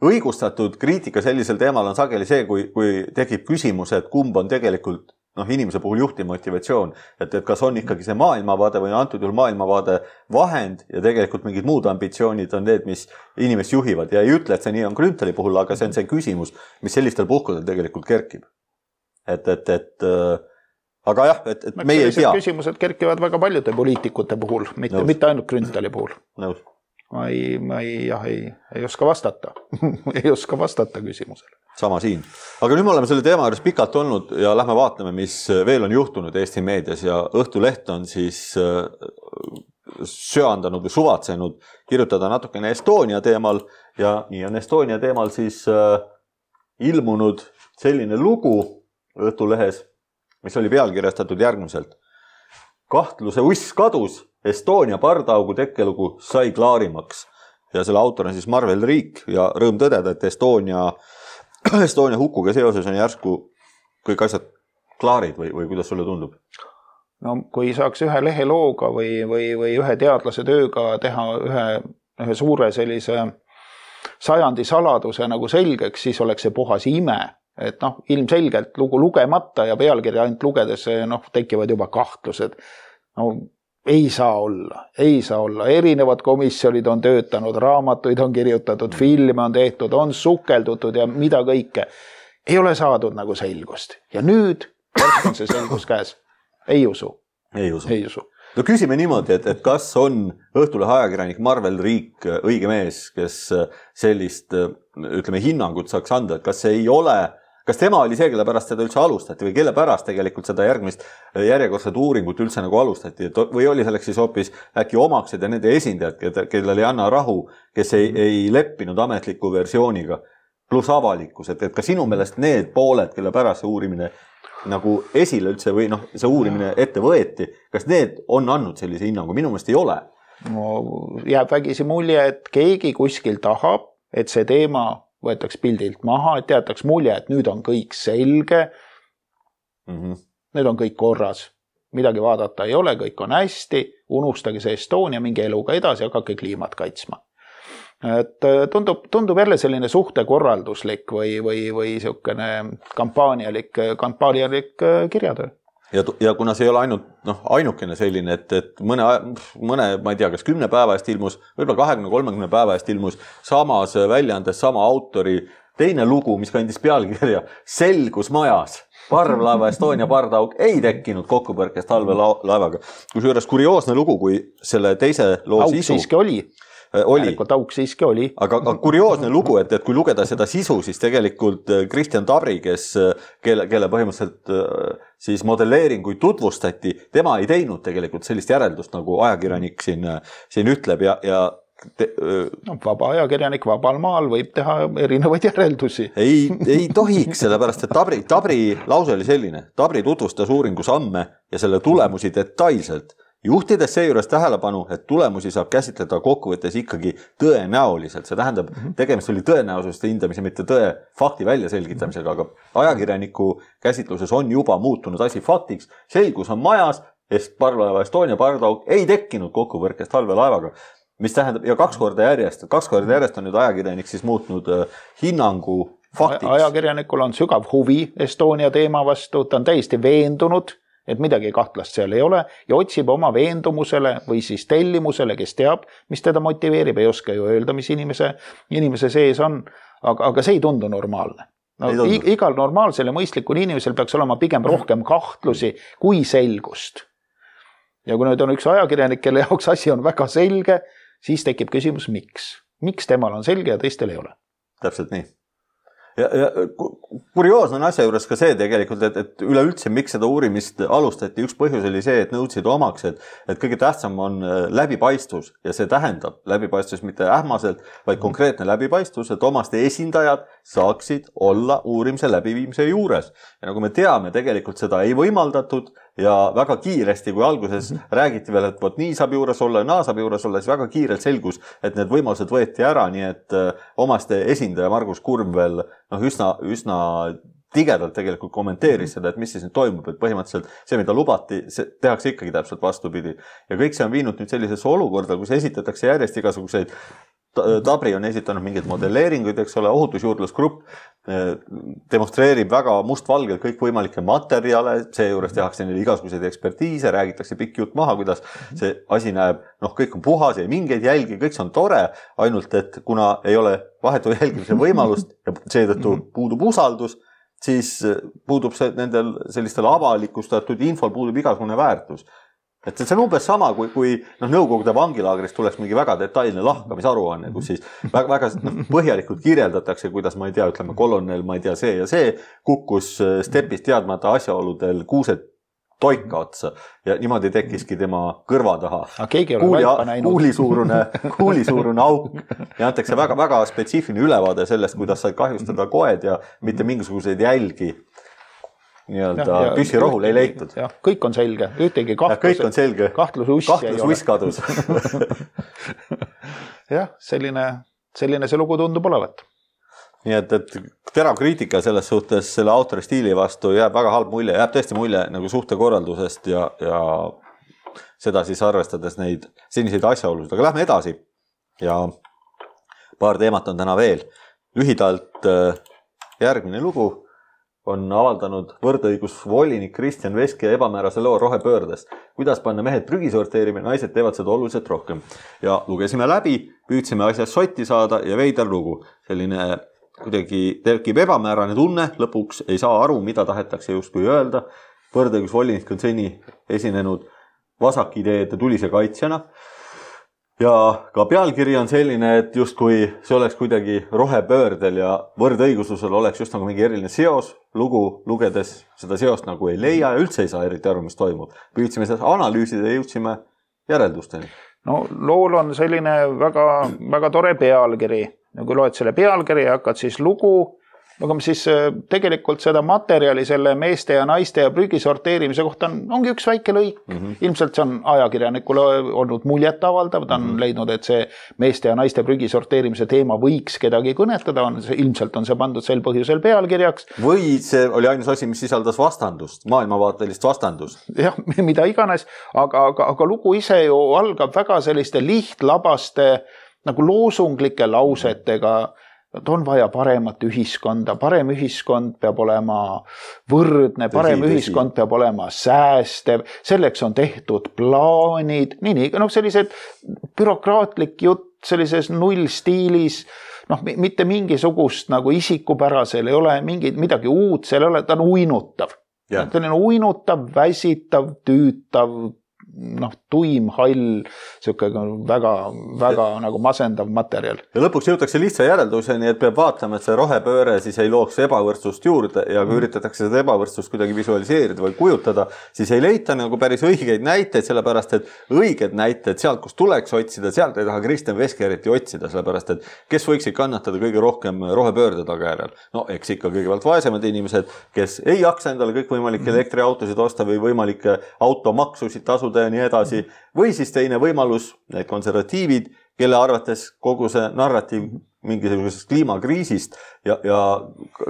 õigustatud kriitika sellisel teemal on sageli see, kui, kui tekib küsimus, et kumb on tegelikult noh, inimese puhul juhtivmotivatsioon, et, et kas on ikkagi see maailmavaade või antud juhul maailmavaade vahend ja tegelikult mingid muud ambitsioonid on need, mis inimest juhivad ja ei ütle, et see nii on Grünthali puhul, aga see on see küsimus, mis sellistel puhkudel tegelikult kerkib. Et, et, et äh, aga jah, et, et meie ei tea. Küsimused kerkivad väga paljude poliitikute puhul, mitte, mitte ainult Grünthali puhul. Nõus. Ma ei, ma ei, jah, ei, ei oska vastata. ei oska vastata küsimusele. Sama siin. Aga nüüd me oleme selle teema juures pikalt olnud ja lähme vaatame, mis veel on juhtunud Eesti meedias ja Õhtuleht on siis söandanud või suvatsenud kirjutada natukene Estonia teemal ja nii on Estonia teemal siis ilmunud selline lugu Õhtulehes, mis oli pealkirjastatud järgmiselt. Kahtluse uss kadus, Estonia pardaugu tekkelugu sai klaarimaks. Ja selle autor on siis Marvel Riik ja rõõm tõdeda, et Estonia, Estonia hukuga seoses on järsku kõik asjad klaarid või, või kuidas sulle tundub? No kui saaks ühe lehelooga või, või, või ühe teadlase tööga teha ühe, ühe suure sellise sajandi saladuse nagu selgeks, siis oleks see puhas ime. Et noh, ilmselgelt lugu lugemata ja pealkirja ainult lugedes noh, tekivad juba kahtlused. No, ei saa olla, ei saa olla. Erinevad komisjonid on töötanud, raamatuid on kirjutatud, filme on tehtud, on sukeldutud ja mida kõike. Ei ole saadud nagu selgust. Ja nüüd on see selgus käes. Ei usu. Ei usu. Ei usu. No küsime niimoodi, et, et kas on Õhtulehe ajakirjanik Marvel Riik õige mees, kes sellist, ütleme, hinnangut saaks anda, et kas see ei ole, kas tema oli see, kelle pärast seda üldse alustati või kelle pärast tegelikult seda järgmist järjekordset uuringut üldse nagu alustati, et või oli selleks siis hoopis äkki omaksed ja nende esindajad, kellel ei anna rahu, kes ei, ei leppinud ametliku versiooniga, pluss avalikkus, et, et ka sinu meelest need pooled, kelle pärast see uurimine nagu esile üldse või noh, see uurimine ette võeti, kas need on andnud sellise hinnangu? Minu meelest ei ole. No, jääb vägisi mulje, et keegi kuskil tahab, et see teema võetaks pildilt maha, et teataks mulje, et nüüd on kõik selge, mm-hmm. nüüd on kõik korras, midagi vaadata ei ole, kõik on hästi, unustage see Estonia, mingi eluga edasi, hakake kliimat kaitsma. Et tundub, tundub jälle selline suhtekorralduslik või, või, või siukene kampaanialik, kampaanialik kirjatöö. Ja, ja kuna see ei ole ainult, noh, ainukene selline, et, et mõne, mõne, ma ei tea, kas kümne päeva eest ilmus, võib-olla kahekümne kolmekümne päeva eest ilmus samas väljaandes sama autori teine lugu, mis kandis pealkirja Selgus majas. Parvlaeva Estonia pardauk ei tekkinud kokkupõrkest halve laevaga. Kusjuures kurioosne lugu, kui selle teise loo Auk sisu... siiski oli. oli. Auk siiski oli. Aga, aga kurioosne lugu, et, et kui lugeda seda sisu, siis tegelikult Kristjan Tabri, kes, kelle, kelle põhimõtteliselt siis modelleeringuid tutvustati, tema ei teinud tegelikult sellist järeldust, nagu ajakirjanik siin, siin ütleb ja, ja Te, no, vaba ajakirjanik vabal maal võib teha erinevaid järeldusi. Ei, ei tohiks, sellepärast, et Tabri, Tabri lause oli selline. Tabri tutvustas uuringu samme ja selle tulemusi detailselt, juhtides seejuures tähelepanu, et tulemusi saab käsitleda kokkuvõttes ikkagi tõenäoliselt. See tähendab, tegemist oli tõenäosuste hindamise, mitte tõe fakti väljaselgitamisega, aga ajakirjaniku käsitluses on juba muutunud asi faktiks. Selgus on majas, sest parvlaeva Estonia pardauk ei tekkinud kokkupõrkest halve laevaga. Mis tähendab, ja kaks korda järjest, kaks korda järjest on nüüd ajakirjanik siis muutnud hinnangu faktiks. Ajakirjanikul on sügav huvi Estonia teema vastu, ta on täiesti veendunud, et midagi kahtlast seal ei ole ja otsib oma veendumusele või siis tellimusele, kes teab, mis teda motiveerib, ei oska ju öelda, mis inimese, inimese sees on, aga, aga see ei tundu normaalne. No, igal normaalsel ja mõistlikul inimesel peaks olema pigem rohkem kahtlusi kui selgust. Ja kui nüüd on üks ajakirjanik, kelle jaoks asi on väga selge, siis tekib küsimus, miks? Miks temal on selge ja teistel ei ole? Täpselt nii. Ja, ja kurioosne on asja juures ka see tegelikult, et, et üleüldse miks seda uurimist alustati, üks põhjus oli see, et nõudsid omaks, et, et kõige tähtsam on läbipaistvus ja see tähendab läbipaistvus mitte ähmaselt, vaid konkreetne läbipaistvus, et omaste esindajad saaksid olla uurimise läbiviimise juures. Ja nagu me teame, tegelikult seda ei võimaldatud ja väga kiiresti, kui alguses räägiti veel, et võt, nii saab juures olla ja naa saab juures olla, siis väga kiirelt selgus, et need võimalused võeti ära, nii et omaste esindaja Margus Kurm veel noh, üsna, üsna tigedalt tegelikult kommenteeris seda, et mis siis nüüd toimub, et põhimõtteliselt see, mida lubati, see tehakse ikkagi täpselt vastupidi. Ja kõik see on viinud nüüd sellisesse olukorda, kus esitatakse järjest igasuguseid Tabri on esitanud mingeid modelleeringuid, eks ole, ohutusjuurdlusgrupp demonstreerib väga mustvalgelt kõik võimalikke materjale, seejuures tehakse neile igasuguseid ekspertiise, räägitakse pikk jutt maha, kuidas see asi näeb, noh, kõik on puhas, ei mingeid jälgi, kõik see on tore, ainult et kuna ei ole vahetu jälgimise võimalust ja seetõttu puudub usaldus, siis puudub see nendel sellistel avalikustatud infol puudub igasugune väärtus. Et see on umbes sama, kui, kui no, Nõukogude vangilaagrist tuleks mingi väga detailne lahkamisaruanne, kus siis väga, väga no, põhjalikult kirjeldatakse, kuidas, ma ei tea, ütleme, kolonel, ma ei tea, see ja see kukkus stepist teadmata asjaoludel kuused toika otsa ja niimoodi tekkiski tema kõrva taha. Kuuli, kuulisuurune, kuulisuurune auk ja antakse väga, väga spetsiifiline ülevaade sellest, kuidas sai kahjustada koed ja mitte mingisuguseid jälgi nii-öelda püssirohul ei leitud. Ja, kõik on selge, ühtegi kahtlus, kahtlus, kahtlus uss kadus. jah, selline, selline see lugu tundub olevat. Nii et, et terav kriitika selles suhtes selle autori stiili vastu jääb väga halb mulje, jääb tõesti mulje nagu suhtekorraldusest ja, ja seda siis arvestades neid seniseid asjaolusid. Aga lähme edasi ja paar teemat on täna veel. Lühidalt järgmine lugu. on avaldanud võrdõigusvolinik Kristjan Veski ebamäärase loo rohepöördest. Kuidas panna mehed prügi sorteerima, naised teevad seda oluliselt rohkem. Ja lugesime läbi, püüdsime asjast sotti saada ja veidar lugu. Selline kuidagi tekib ebamäärane tunne, lõpuks ei saa aru, mida tahetakse justkui öelda. Võrdõigusvolinik on seni esinenud vasakideede tulise kaitsjana. Ja ka pealkiri on selline, et justkui see oleks kuidagi rohepöördel ja võrdõiguslusel oleks just nagu mingi eriline seos. Lugu lugedes seda seost nagu ei leia ja üldse ei saa eriti aru, mis toimub. Püüdsime seda analüüsida ja jõudsime järeldusteni. No lool on selline väga, väga tore pealkiri. Ja kui loed selle pealkiri ja hakkad siis lugu, aga siis tegelikult seda materjali selle meeste ja naiste ja prügi sorteerimise kohta on, ongi üks väike lõik. Mm -hmm. Ilmselt see on ajakirjanikule olnud muljet avaldav, ta on mm -hmm. leidnud, et see meeste ja naiste prügi sorteerimise teema võiks kedagi kõnetada, on, ilmselt on see pandud sel põhjusel pealkirjaks. Või see oli ainus asi, mis sisaldas vastandust, maailmavaatelist vastandust. Jah, mida iganes, aga, aga, aga lugu ise ju algab väga selliste lihtlabaste nagu loosunglike lausetega, et on vaja paremat ühiskonda, parem ühiskond peab olema võrdne, parem tõsi, ühiskond tõsi. Peab olema säästev, selleks on tehtud plaanid, nii, nii, noh, sellised bürokraatlik jutt sellises nullstiilis, noh, mitte mingisugust nagu isikupärasel ei ole mingi, midagi uut, seal ei ole, ta on uinutav. Yeah. Ta on uinutav, väsitav, tüütav, noh, tuim, hall, siuke väga, väga ja, nagu masendav materjal. Ja lõpuks jõutakse lihtsa järelduseni, et peab vaatama, et see rohepööre siis ei looks ebavõrdsust juurde ja kui mm. üritatakse seda ebavõrdsust kuidagi visualiseerida või kujutada, siis ei leita nagu päris õigeid näiteid, sellepärast et õiged näited sealt, kus tuleks otsida, sealt ei taha Kristjan Veski eriti otsida, sellepärast et kes võiksid kannatada kõige rohkem rohepöörde tagajärjel? No eks ikka kõigepealt vaesemad inimesed, kes ei jaksa endale kõikvõimalikke mm. elektriautosid osta või võimalikke automaksusid tasuda ja nii edasi. Või siis teine võimalus, need konservatiivid, kelle arvates kogu see narratiiv mingisugusest kliimakriisist ja, ja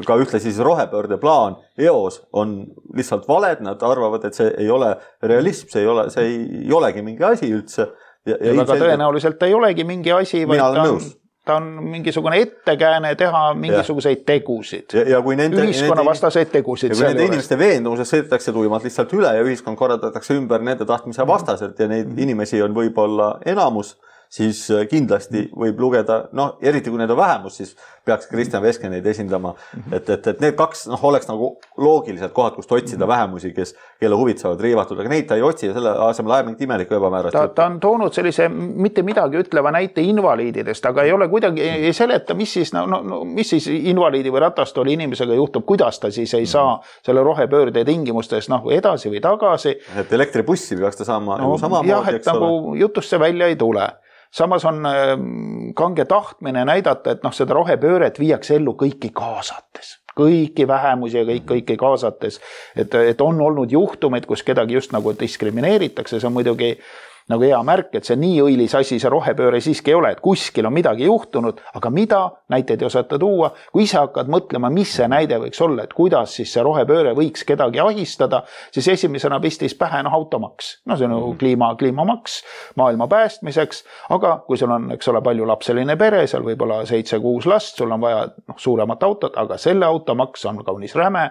ka ühtlasi siis rohepöörde plaan eos on lihtsalt valed, nad arvavad, et see ei ole realism, see ei, ole, see ei olegi mingi asi üldse. Ja, ja, ja väga selge... tõenäoliselt ei olegi mingi asi, vaid ta on, ta on mingisugune ettekääne teha mingisuguseid ja. tegusid. Ja, ja kui nende, ühiskonna vastaseid tegusid. Ja kui nende inimeste veendumused sõidetakse tuimalt lihtsalt üle ja ühiskond korraldatakse ümber nende tahtmise vastaselt ja neid inimesi on võib-olla enamus, siis kindlasti võib lugeda, noh, eriti kui need on vähemus, siis peaks Kristjan Veski neid esindama. Et, et, et need kaks noh, oleks nagu loogiliselt kohad, kust otsida vähemusi, kes, kelle huvid saavad riivatud, aga neid ta ei otsi ja selle asemel ajab mingit imelikku ebamäärast. Ta, ta on toonud sellise mitte midagi ütleva näite invaliididest, aga ei ole kuidagi, ei seleta, mis siis, no, no, mis siis invaliidi või ratastooli inimesega juhtub, kuidas ta siis ei saa selle rohepöörde tingimustes noh, edasi või tagasi. Et elektribussi peaks ta saama no, sama jah, moodi, et nagu jutust see välja ei tule. Samas on kange tahtmine näidata, et noh, seda rohepööret viiakse ellu kõiki kaasates, kõiki vähemusi ja kõik, kõiki kaasates. Et, et on olnud juhtumeid, kus kedagi just nagu diskrimineeritakse, see on muidugi nagu hea märk, et see nii õilis asi, see rohepööre siiski ei ole, et kuskil on midagi juhtunud, aga mida, näiteid ei osata tuua, kui ise hakkad mõtlema, mis see näide võiks olla, et kuidas siis see rohepööre võiks kedagi ahistada, siis esimesena pistis pähe no, automaks. No see on mm. kliima, kliimamaks maailma päästmiseks, aga kui sul on, eks ole, palju lapseline pere, seal võib-olla seitse-kuus last, sul on vaja no, suuremat autot, aga selle automaks on kaunis räme,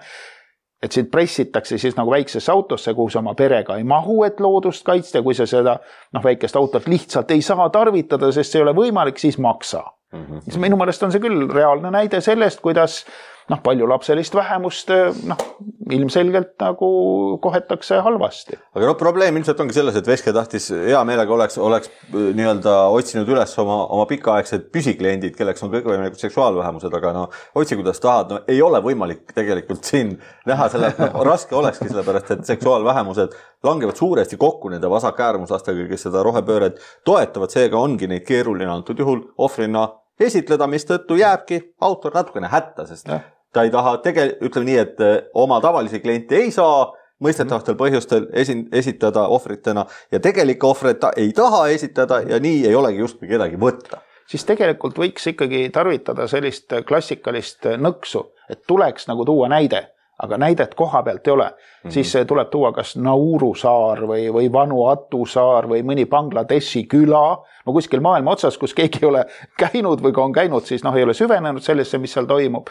et sind pressitakse siis nagu väiksesse autosse, kuhu sa oma perega ei mahu, et loodust kaitsta, kui sa seda noh, väikest autot lihtsalt ei saa tarvitada, sest see ei ole võimalik, siis maksa. Mm-hmm. Minu meelest on see küll reaalne näide sellest, kuidas noh, palju lapselist vähemust noh, ilmselgelt nagu kohetakse halvasti. Aga no probleem ilmselt ongi selles, et Veske tahtis hea meelega oleks, oleks nii-öelda otsinud üles oma, oma pikaaegsed püsikliendid, kelleks on kõikvõimalikud seksuaalvähemused, aga no otsi kuidas tahad, no ei ole võimalik tegelikult siin näha selle, no, raske olekski sellepärast, et seksuaalvähemused langevad suuresti kokku nende vasakäärmuslastega, kes seda rohepööret toetavad, seega ongi neid keeruline antud juhul ohvrina esitleda, mis tõttu jääbki autor natukene hätta, sest ja. Ta ei taha tegel-, ütleme nii, et oma tavalisi kliente ei saa mõistetavatel põhjustel esin- esitada ohvritena ja tegelike ohvreid ta ei taha esitada ja nii ei olegi justkui kedagi võtta. Siis tegelikult võiks ikkagi tarvitada sellist klassikalist nõksu, et tuleks nagu tuua näide, aga näidet koha pealt ei ole. Mm-hmm. Siis tuleb tuua kas Nauru saar või, või Vanuatu saar või mõni Bangladeshi küla, no kuskil maailma otsas, kus keegi ei ole käinud või kui on käinud, siis noh, ei ole süvenenud sellesse, mis seal toimub.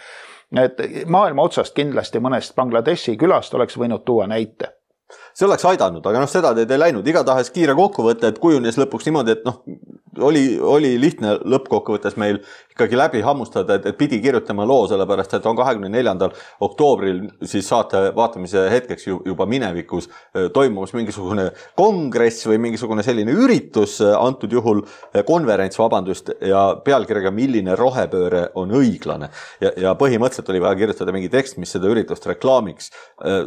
et maailma otsast kindlasti mõnest Bangladeshi külast oleks võinud tuua näite. See oleks aidanud, aga noh, seda teed ei läinud. Igatahes kiire kokkuvõte, et kujunes lõpuks niimoodi, et noh, oli, oli lihtne lõppkokkuvõttes meil ikkagi läbi hammustada, et, et pidi kirjutama loo, sellepärast, et on kahekümne neljandal oktoobril siis saate vaatamise hetkeks juba minevikus toimumas mingisugune kongress või mingisugune selline üritus, antud juhul konverents, vabandust, ja pealkirjaga milline rohepööre on õiglane. Ja, ja põhimõtteliselt oli vaja kirjutada mingi tekst, mis seda üritust reklaamiks.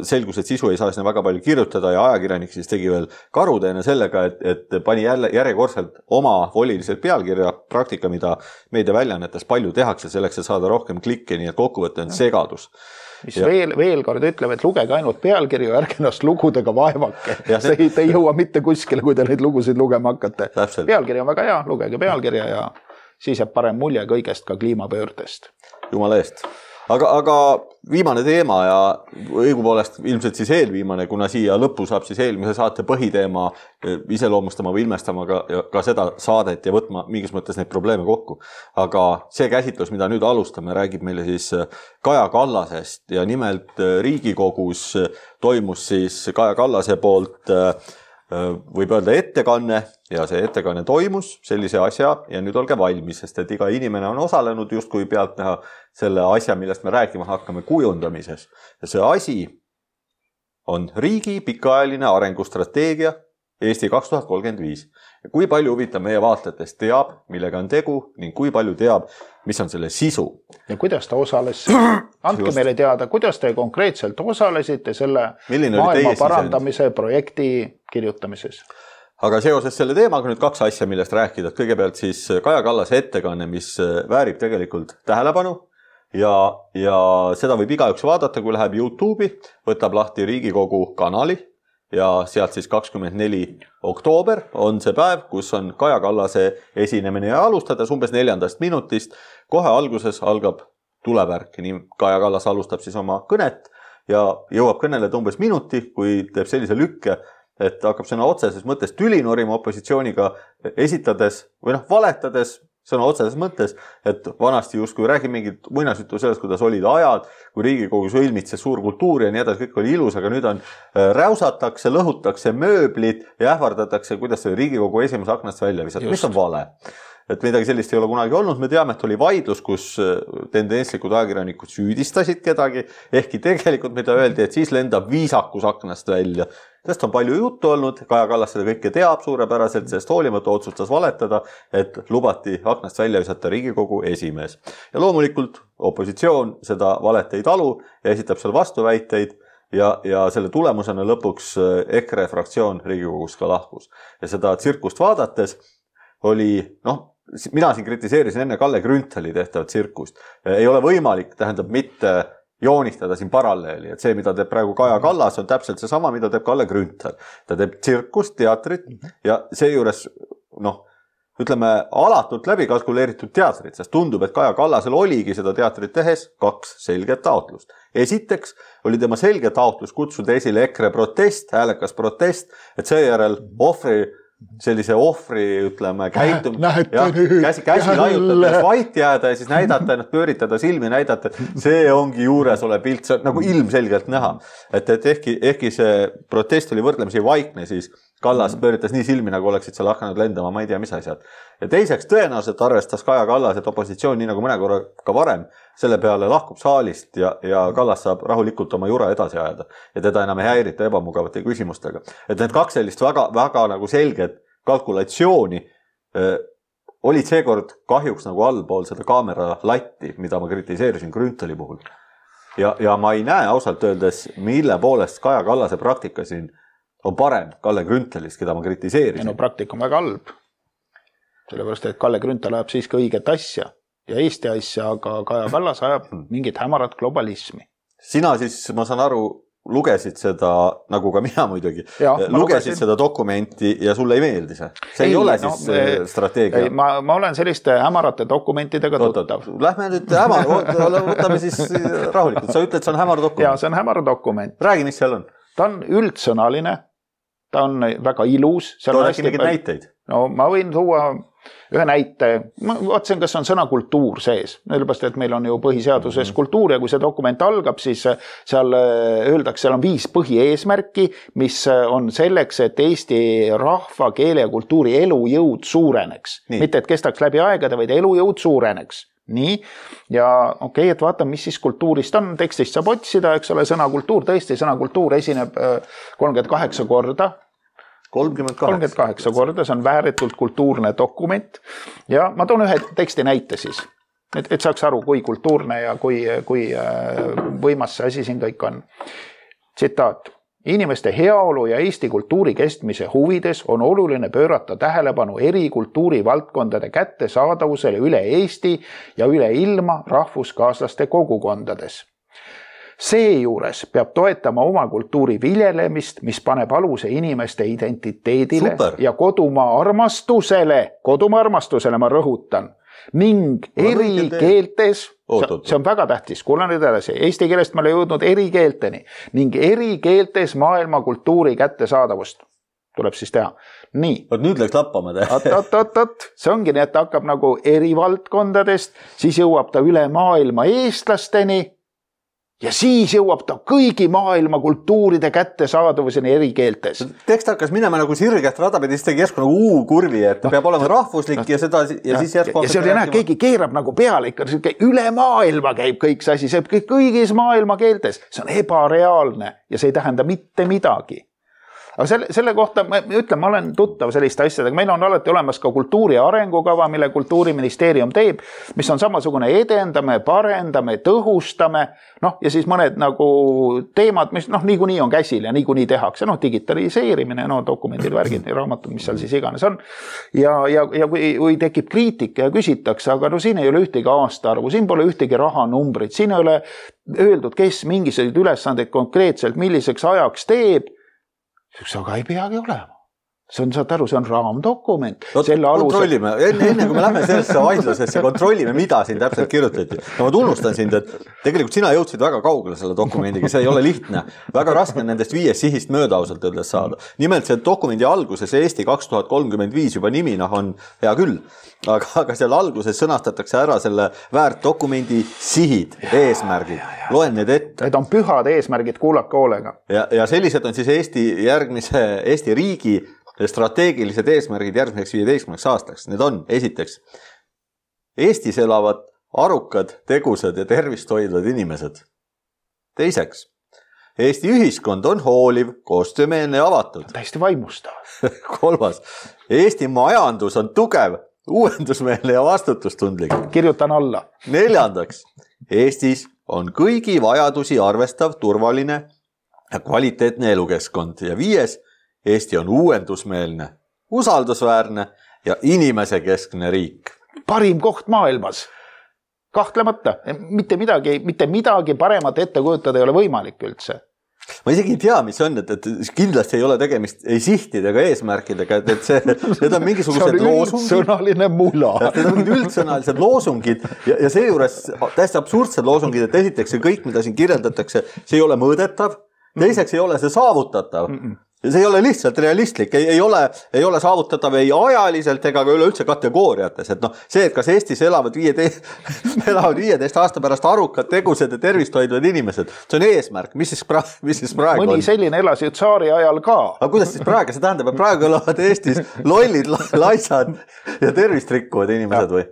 Selgus, et sisu ei saa sinna väga palju kirjutada ja ajakirjanik siis tegi veel karuteene sellega, et, et pani jälle järjekordselt oma voliliselt pealkirja praktika, mida meediaväljaannetes palju tehakse selleks, et saada rohkem klikke, nii et kokkuvõte on segadus. Mis ja. veel, veel kord ütleb, et lugege ainult pealkirju, ärge ennast lugudega vaevake. Ja see... Te, te ei jõua mitte kuskile, kui te neid lugusid lugema hakkate. Täpselt. Pealkiri on väga hea, lugege pealkirja ja siis jääb parem mulje kõigest ka kliimapöördest. Jumala eest. Aga, aga viimane teema ja õigupoolest ilmselt siis eelviimane, kuna siia lõppu saab siis eelmise saate põhiteema iseloomustama või ilmestama ka, ka seda saadet ja võtma mingis mõttes neid probleeme kokku. Aga see käsitlus, mida nüüd alustame, räägib meile siis Kaja Kallasest ja nimelt Riigikogus toimus siis Kaja Kallase poolt võib öelda ettekanne ja see ettekanne toimus sellise asja ja nüüd olge valmis, sest et iga inimene on osalenud just kui pealt näha selle asja, millest me rääkima hakkame kujundamises. Ja see asi on riigi pikaajaline arengustrateegia Eesti kaks tuhat kolmkümmend viis. Ja kui palju huvitav meie vaatajatest teab, millega on tegu ning kui palju teab, mis on selle sisu. Ja kuidas ta osales? Andke just. Meile teada, kuidas te konkreetselt osalesite selle Milline maailma parandamise sisend? Projekti kirjutamises. Aga seoses selle teemaga nüüd kaks asja, millest rääkida. Kõigepealt siis Kaja Kallase ettekanne, mis väärib tegelikult tähelepanu ja, ja seda võib igaüks vaadata, kui läheb YouTube'i, võtab lahti Riigikogu kanali ja sealt siis kakskümmend neli oktoober on see päev, kus on Kaja Kallase esinemine ja alustades umbes neljandast minutist. Kohe alguses algab tulevärk, nii Kaja Kallas alustab siis oma kõnet ja jõuab kõneleda umbes minuti, kui teeb sellise lükke, et hakkab sõna otseses mõttes tüli norima opositsiooniga esitades või noh, valetades sõna otseses mõttes, et vanasti justkui räägi mingit muinasjutu sellest, kuidas olid ajad, kui Riigikogu sõlmitses suur kultuur ja nii edasi, kõik oli ilus, aga nüüd on räusatakse, lõhutakse mööblit ja ähvardatakse, kuidas see Riigikogu esimese aknast välja visata, mis on vale. Et midagi sellist ei ole kunagi olnud, me teame, et oli vaidlus, kus tendentslikud ajakirjanikud süüdistasid kedagi, ehkki tegelikult mida öeldi, et siis lendab viisakus aknast välja. Sest on palju juttu olnud, Kaja Kallas seda kõike teab suurepäraselt, sest hoolimata otsustas valetada, et lubati aknast välja visata Riigikogu esimees. Ja loomulikult opositsioon seda valet ei talu ja esitab seal vastuväiteid ja, ja selle tulemusena lõpuks EKRE fraktsioon Riigikogus ka lahkus. Ja seda tsirkust vaadates oli, noh, mina siin kritiseerisin enne Kalle Grünthali tehtavat tsirkust. Ei ole võimalik, tähendab mitte joonistada siin paralleeli, et see, mida teeb praegu Kaja Kallas, on täpselt see sama, mida teeb Kalle Grünthal. Ta teeb tsirkust, teatrit ja seejuures, noh, ütleme, alatult läbi kalkuleeritud teatrit, sest tundub, et Kaja Kallasel oligi seda teatrit tehes kaks selget taotlust. Esiteks oli tema selge taotlus kutsuda esile EKRE protest, häälekas protest, et seejärel ohvri sellise ohvri, ütleme, käitum, ja, käsi, käsi laiutades vait jääda ja siis näidata, ennast pööritada silmi, näidata, et see ongi juures ole pilt, see on nagu ilmselgelt näha. Et, et ehkki, ehkki see protest oli võrdlemisi vaikne, siis Kallas pööritas nii silmi, nagu oleksid seal hakanud lendama, ma ei tea, mis asjad. Ja teiseks tõenäoliselt arvestas Kaja Kallas, et opositsioon, nii nagu mõne korra ka varem, selle peale lahkub saalist ja, ja Kallas saab rahulikult oma jura edasi ajada. Ja teda enam ei häirita ebamugavate küsimustega. Et need kaks sellist väga, väga nagu selget kalkulatsiooni äh, olid seekord kahjuks nagu allpool seda kaamera latti, mida ma kritiseerisin Grünthali puhul. Ja, ja ma ei näe ausalt öeldes, mille poolest Kaja Kallase praktika siin on parem Kalle Grünthalist, keda ma kritiseerisin. No praktika on väga halb. Sellepärast, et Kalle Grünthal ajab siiski õiget asja ja Eesti asja, aga Kaja Kallas ajab mingit hämarat globalismi. Sina siis, ma saan aru, lugesid seda, nagu ka mina muidugi, ja, lugesid lugesin... seda dokumenti ja sulle ei meeldi see? See ei, ei ole siis no, me, strateegia? Ei, ma, ma olen selliste hämarate dokumentidega tuttav. Lähme nüüd hämar, võtame siis rahulikult. Sa ütled, see on hämar dokument? Ja, see on hämar dokument. Räägi, mis seal on? Ta on üldsõnaline, ta on väga ilus. Too äkki mingid näiteid? No ma võin tuua ühe näite, ma vaatasin, kas on sõna kultuur sees, sellepärast, et meil on ju põhiseaduses mm-hmm. kultuur ja kui see dokument algab, siis seal öeldakse, seal on viis põhieesmärki, mis on selleks, et Eesti rahva, keele ja kultuuri elujõud suureneks. Nii. Mitte, et kestaks läbi aegade, vaid elujõud suureneks. Nii, ja okei, okay, et vaata, mis siis kultuurist on, tekstist saab otsida, eks ole, sõna kultuur, tõesti, sõna kultuur esineb kolmkümmend kaheksa korda, kolmkümmend kaheksa korda, see on vääretult kultuurne dokument ja ma toon ühe teksti näite siis, et, et saaks aru, kui kultuurne ja kui, kui võimas see asi siin kõik on. Tsitaat. Inimeste heaolu ja Eesti kultuuri kestmise huvides on oluline pöörata tähelepanu eri kultuurivaldkondade kättesaadavusele üle Eesti ja üle ilma rahvuskaaslaste kogukondades. Seejuures peab toetama oma kultuuri viljelemist, mis paneb aluse inimeste identiteedile Super. Ja kodumaa armastusele, kodumaa armastusele ma rõhutan, ning eri keeltes, see on väga tähtis, kuulan nüüd edasi, eesti keelest ma olen jõudnud eri keelteni, ning eri keeltes maailma kultuuri kättesaadavust tuleb siis teha. Nii. Oot, nüüd läks lappama te. Oot, oot, oot, oot. See ongi nii, et ta hakkab nagu eri valdkondadest, siis jõuab ta üle maailma eestlasteni, ja siis jõuab ta kõigi maailma kultuuride kättesaadavuseni eri keeltes. Tekst hakkas minema nagu sirgest radapidi, siis tegi järsku nagu U-kurvi, et peab olema rahvuslik ja seda ja, ja siis järsku... Ja see oli näha, keegi keerab nagu peale ikka, üle maailma käib kõik see asi, see kõik kõigis maailma keeltes. See on ebareaalne ja see ei tähenda mitte midagi. Aga selle, selle kohta, ma ütlen, ma olen tuttav selliste asjadega, meil on alati olemas ka kultuuri arengukava, mille kultuuriministeerium teeb, mis on samasugune edendame, parendame, tõhustame, noh, ja siis mõned nagu teemad, mis noh, niikuinii on käsil ja niikuinii tehakse, noh, digitaliseerimine, no dokumendid, värgid, raamatud, mis seal siis iganes on. Ja, ja, ja kui, kui tekib kriitika ja küsitakse, aga no siin ei ole ühtegi aastaarvu, siin pole ühtegi rahanumbrit, siin ei ole öeldud, kes mingisuguseid ülesandeid konkreetselt milliseks ajaks teeb, aga ei peagi olema. See on, saad aru, see on raamdokument. No, kontrollime, enne, enne kui me lähme sellesse vaidlusesse, kontrollime, mida siin täpselt kirjutati. No ma tunnustan sind, et tegelikult sina jõudsid väga kaugele selle dokumendiga, see ei ole lihtne. Väga raske nendest viiest sihist mööda ausalt öeldes saada. Nimelt see dokumendi alguses Eesti kaks tuhat kolmkümmend viis juba nimina on hea küll, aga, aga seal alguses sõnastatakse ära selle väärt dokumendi sihid, eesmärgid. Loen need ette. Need on pühad eesmärgid, kuulake hoolega. Ja, ja sellised on siis Eesti järgmise Eesti riigi strateegilised eesmärgid järgmiseks viieteistkümneks aastaks. Need on esiteks Eestis elavad arukad, tegusad ja tervist hoidvad inimesed. Teiseks, Eesti ühiskond on hooliv, koostöömeelne ja avatud. Täiesti vaimustav. Kolmas, Eesti majandus on tugev, uuendusmeelne ja vastutustundlik. Kirjutan alla. Neljandaks, Eestis on kõigi vajadusi arvestav, turvaline ja kvaliteetne elukeskkond. Ja viies, Eesti on uuendusmeelne, usaldusväärne ja inimesekeskne riik. Parim koht maailmas. Kahtlemata. Mitte midagi, mitte midagi paremat ette kujutada ei ole võimalik üldse. Ma isegi ei tea, mis on, et, et kindlasti ei ole tegemist ei sihtidega, eesmärkidega, et see, need on mingisugused loosungid. See on üldsõnaline mula. Need on mingid üldsõnalised loosungid ja, ja see juures täiesti absurdsed loosungid, et esiteks see kõik, mida siin kirjeldatakse, see ei ole mõõdetav, teiseks ei ole see saavutatav. Mm-mm. See ei ole lihtsalt realistlik, ei, ei, ole, ei ole saavutatav ei ajaliselt ega ka üleüldse kategooriates. Et noh, see, et kas Eestis elavad viieteist, elavad viieteist aasta pärast arukad, tegused ja tervist hoidvad inimesed, see on eesmärk. Mis siis, pra, mis siis praegu Mõni on? selline elas ju tsaari ajal ka. Aga kuidas siis praegu? See tähendab, et praegu elavad Eestis lollid, laisad ja tervist rikkuvad inimesed või?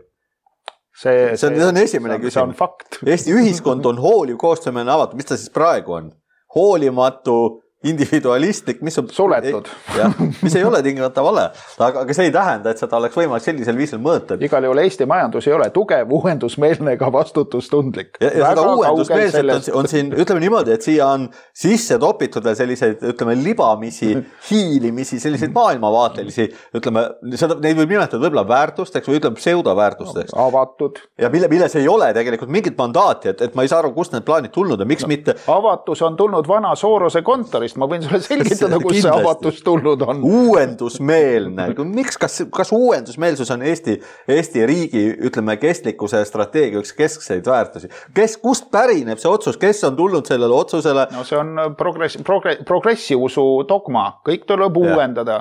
See, see, on, see on esimene küsimus. See on fakt. Eesti ühiskond on hooliv, koostöömeelne, avatud. Mis ta siis praegu on? Hoolimatu, individualistlik, mis on suletud. Ja, mis ei ole tingimata vale, aga, aga see ei tähenda, et seda oleks võimalik sellisel viisil mõõta. Igal juhul Eesti majandus ei ole tugev, uuendusmeelne ega vastutustundlik. Ja, ja seda uuendusmeelset on, on siin, ütleme niimoodi, et siia on sisse topitud selliseid, ütleme, libamisi, hiilimisi, selliseid maailmavaatelisi, ütleme, seda, neid võib nimetada võib-olla väärtusteks või ütleme pseudoväärtusteks. Avatud. Ja mille, milles ei ole tegelikult mingit mandaati, et, et ma ei saa aru, kust need plaanid tulnud ja miks no, mitte. Avatus on tulnud vana Soorose kontorist. Ma võin sulle selgitada, kus see avatus tulnud on. Uuendusmeelne. Miks, kas, kas uuendusmeelsus on Eesti, Eesti riigi, ütleme, kestlikkuse strateegia üks keskseid väärtusi? Kes, kust pärineb see otsus? Kes on tulnud sellele otsusele? No see on progress, progress, progressiusu dogma. Kõik tuleb ja. uuendada.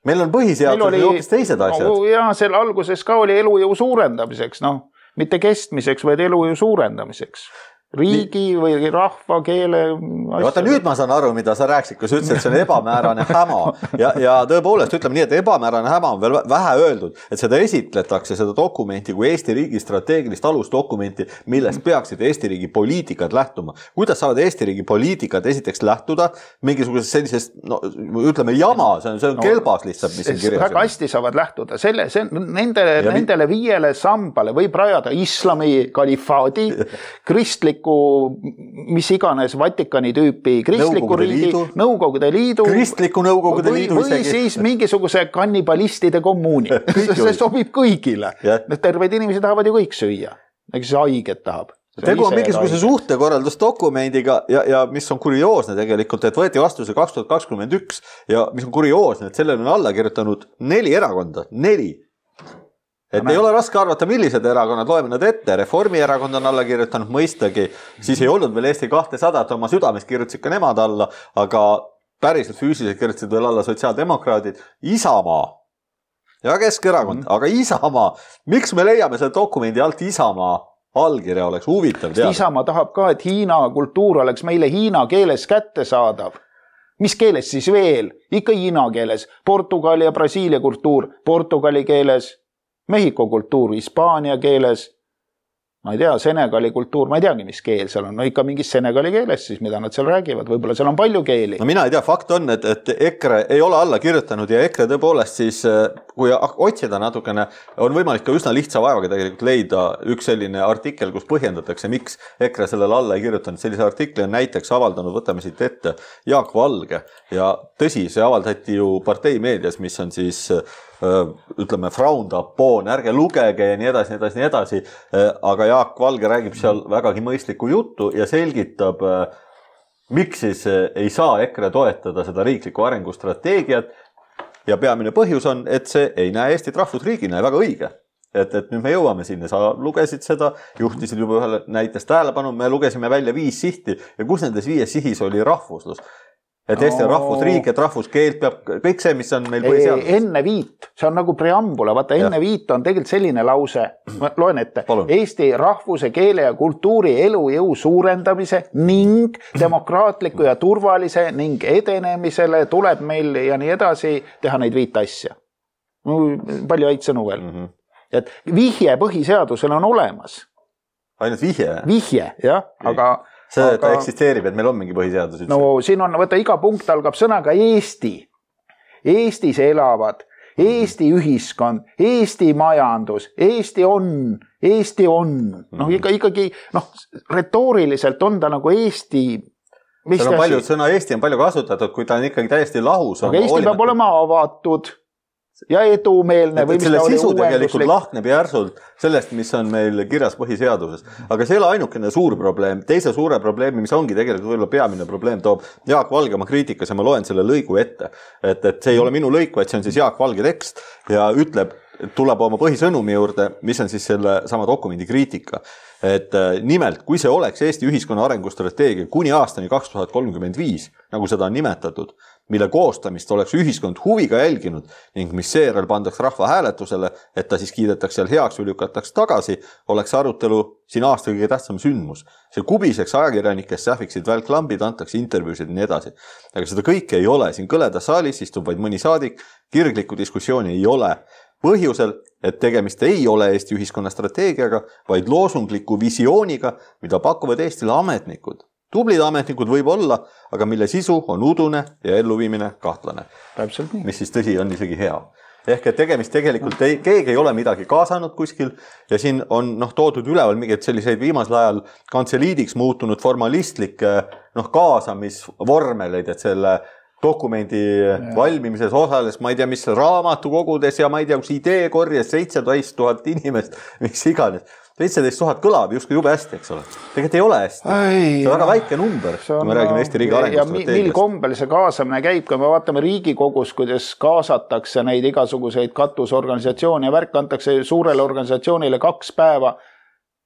meil on põhiseadus oli hoopis teised asjad. No, ja selle alguses ka oli elujõu suurendamiseks, noh, mitte kestmiseks, vaid elujõu suurendamiseks. Riigi või rahva, keele ja vaata, nüüd ma saan aru, mida sa rääksid, kui sa ütlesid, et see on ebamäärane häma ja, ja tõepoolest ütleme nii, et ebamäärane häma on veel vähe öeldud, et seda esitletakse, seda dokumenti kui Eesti riigi strateegilist alusdokumenti, millest peaksid Eesti riigi poliitikad lähtuma. Kuidas saavad Eesti riigi poliitikad esiteks lähtuda mingisugusest sellisest, no ütleme jama, see on, see on no, kelbas lihtsalt, mis siin kirjas. Väga hästi saavad lähtuda. Selle, see, nendele, nendele viiele sambale võib rajada islami kalifaadi, kristlik mis iganes Vatikani tüüpi kristliku riigi, Nõukogude Liidu kristliku Nõukogude Liidu või, või siis mingisuguse kannibalistide kommuuni. see sobib kõigile. Terved inimesed tahavad ju kõik süüa. Ega see haiget tahab. Tegu on mingisuguse suhtekorraldusdokumendiga ja, ja mis on kurioosne tegelikult, et võeti vastu see kaks tuhat kakskümmend üks ja mis on kurioosne, et sellele on alla kirjutanud neli erakonda, neli. Et ei ole raske arvata, millised erakonnad, loeme nad ette. Reformierakond on alla kirjutanud mõistagi, siis ei olnud veel Eesti kahtesada, oma südames kirjutasid ka nemad alla, aga päriselt füüsiliselt kirjutasid veel alla sotsiaaldemokraadid, Isamaa ja Keskerakond, mm. aga Isamaa, miks me leiame selle dokumendi alt Isamaa allkirja oleks huvitav teada? Isamaa tahab ka, et Hiina kultuur oleks meile Hiina keeles kätte saadav. Mis keeles siis veel? Ikka Hiina keeles. Portugali ja Brasiilia kultuur Portugali keeles. Mehhiko kultuur Hispaania keeles, ma ei tea, Senegali kultuur, ma ei teagi, mis keel seal on, no ikka mingis Senegali keeles siis, mida nad seal räägivad, võib-olla seal on palju keeli. No mina ei tea, fakt on, et, et EKRE ei ole alla kirjutanud ja EKRE tõepoolest siis, kui otsida natukene, on võimalik ka üsna lihtsa vaevaga tegelikult leida üks selline artikkel, kus põhjendatakse, miks EKRE sellele alla ei kirjutanud. Sellise artikli on näiteks avaldanud, võtame siit ette, Jaak Valge ja tõsi, see avaldati ju partei meedias, mis on siis ütleme, frowned upon, ärge lugege ja nii edasi, nii edasi, nii edasi. Aga Jaak Valge räägib seal vägagi mõistlikku juttu ja selgitab, miks siis ei saa EKRE toetada seda riiklikku arengustrateegiat. Ja peamine põhjus on, et see ei näe Eestit rahvusriigina ja väga õige. Et, et nüüd me jõuame sinna, sa lugesid seda, juhtisid juba ühele näitest tähelepanu, me lugesime välja viis sihti ja kus nendes viies sihis oli rahvuslus. Et Eesti on rahvusriik, et rahvuskeelt peab kõik see, mis on meil põhiseaduses. Enne viit, see on nagu preambula, vaata enne ja. Viit on tegelikult selline lause, ma loen ette, Palun. Eesti rahvuse, keele ja kultuuri elujõu suurendamise ning demokraatliku ja turvalise ning edenemisele tuleb meil ja nii edasi teha neid viit asja. Palju häid sõnu veel. Mm-hmm. Et vihje põhiseadusel on olemas. Ainult vihje? Vihje, jah, aga... See, et ta eksisteerib, et meil on mingi põhiseadus. No siin on, võtta, iga punkt algab sõnaga Eesti. Eestis elavad, Eesti ühiskond, Eesti majandus, Eesti on, Eesti on. Noh, ikka, ikkagi, noh, retooriliselt on ta nagu Eesti... Seal on palju, sõna Eesti on palju kasutatud, kui ta on ikkagi täiesti lahus. Aga Eesti olimata... peab olema avatud ja edumeelne. Või selle sisu tegelikult lahkneb järsult sellest, mis on meil kirjas põhiseaduses. Aga see ei ole ainukene suur probleem. Teise suure probleemi, mis ongi tegelikult võib-olla peamine probleem, toob Jaak Valge oma kriitikas ja ma loen selle lõigu ette. Et, et see ei ole minu lõik, vaid see on siis Jaak Valge tekst ja ütleb, tuleb oma põhisõnumi juurde, mis on siis selle sama dokumendi kriitika. Et nimelt, kui see oleks Eesti ühiskonna arengustrateegia kuni aastani kaks tuhat kolmkümmend viis, nagu seda on nimetatud, mille koostamist oleks ühiskond huviga jälginud ning mis seejärel pandaks rahva hääletusele, et ta siis kiidetakse seal heaks või lükataks tagasi, oleks arutelu siin aasta kõige tähtsam sündmus. See kubiseks ajakirjanikest sähviksid välklambid, antakse intervjuusid ja nii edasi. Aga seda kõike ei ole. Siin kõledas saalis istub vaid mõni saadik, kirglikku diskussiooni ei ole. Põhjusel, et tegemist ei ole Eesti ühiskonna strateegiaga, vaid loosungliku visiooniga, mida pakuvad Eestile ametnikud. Tublid ametnikud võib olla, aga mille sisu on udune ja elluviimine kahtlane. Täpselt nii. Mis siis tõsi on isegi hea. Ehk et tegemist tegelikult ei, keegi ei ole midagi kaasanud kuskil ja siin on noh, toodud üleval mingid selliseid viimasel ajal kantseliidiks muutunud formalistlikke noh, kaasamisvormeleid, et selle dokumendi ja. Valmimises osales, ma ei tea, mis raamatukogudes ja ma ei tea, kus idee korjas seitseteist tuhat inimest, mis iganes. seitseteist tuhat kõlab justkui jube hästi, eks ole. Tegelikult ei ole hästi. Ai, see on väga väike number, kui me räägime Eesti riigi arengustrateegiast. Mil kombel see kaasamine käib, kui me vaatame Riigikogus, kuidas kaasatakse neid igasuguseid katusorganisatsioone ja värk antakse suurele organisatsioonile kaks päeva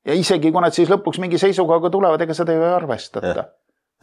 ja isegi kui nad siis lõpuks mingi seisukohaga tulevad, ega seda ei arvestata.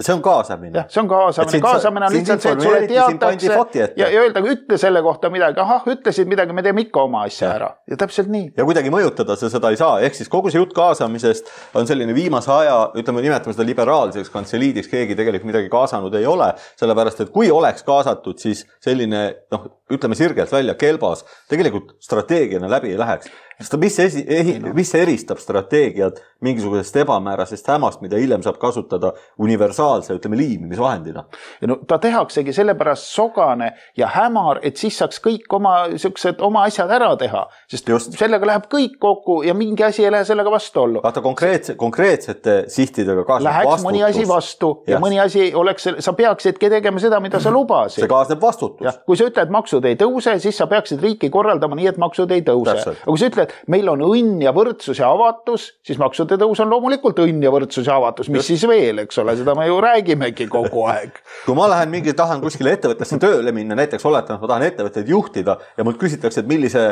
see on kaasamine. See on kaasamine. Kaasamine on lihtsalt see, et sulle teatakse ja, ja öelda, ütle selle kohta midagi. Ahah, ütlesid midagi, me teeme ikka oma asja ära. Ja täpselt nii. Ja kuidagi mõjutada see seda ei saa. Ehk siis kogu see jutt kaasamisest on selline viimase aja, ütleme, nimetame seda liberaalseks kantseliidiks, keegi tegelikult midagi kaasanud ei ole. Sellepärast, et kui oleks kaasatud, siis selline, noh, ütleme sirgelt välja, kelbas, tegelikult strateegiana läbi ei läheks. Sest mis, esi, ehi, mis eristab strateegiat mingisugusest ebamäärasest hämast, mida hiljem saab kasutada universaalse, ütleme, liimimisvahendina? Ja no ta tehaksegi sellepärast sogane ja hämar, et siis saaks kõik oma, sellised, oma asjad ära teha. Sest Just. sellega läheb kõik kokku ja mingi asi ei lähe sellega vastu ollu. Vaata konkreetse, konkreetsete sihtidega kaasneb Läheks vastutus. mõni asi vastu ja yes. mõni asi oleks, sa peaksidki tegema seda, mida sa lubasid. See kaasneb vastutus. Ja, kui sa ütled, et maksud ei tõuse, siis sa peaksid riiki korraldama nii, et maksud ei tõuse. Aga kui sa ütled, meil on õnn ja võrdsus ja avatus, siis maksude tõus on loomulikult õnn ja võrdsus ja avatus. Mis Just. siis veel, eks ole, seda me ju räägimegi kogu aeg. Kui ma lähen mingi, tahan kuskile ettevõttesse tööle minna, näiteks oletan, ma tahan ettevõtteid juhtida ja mult küsitakse, et millise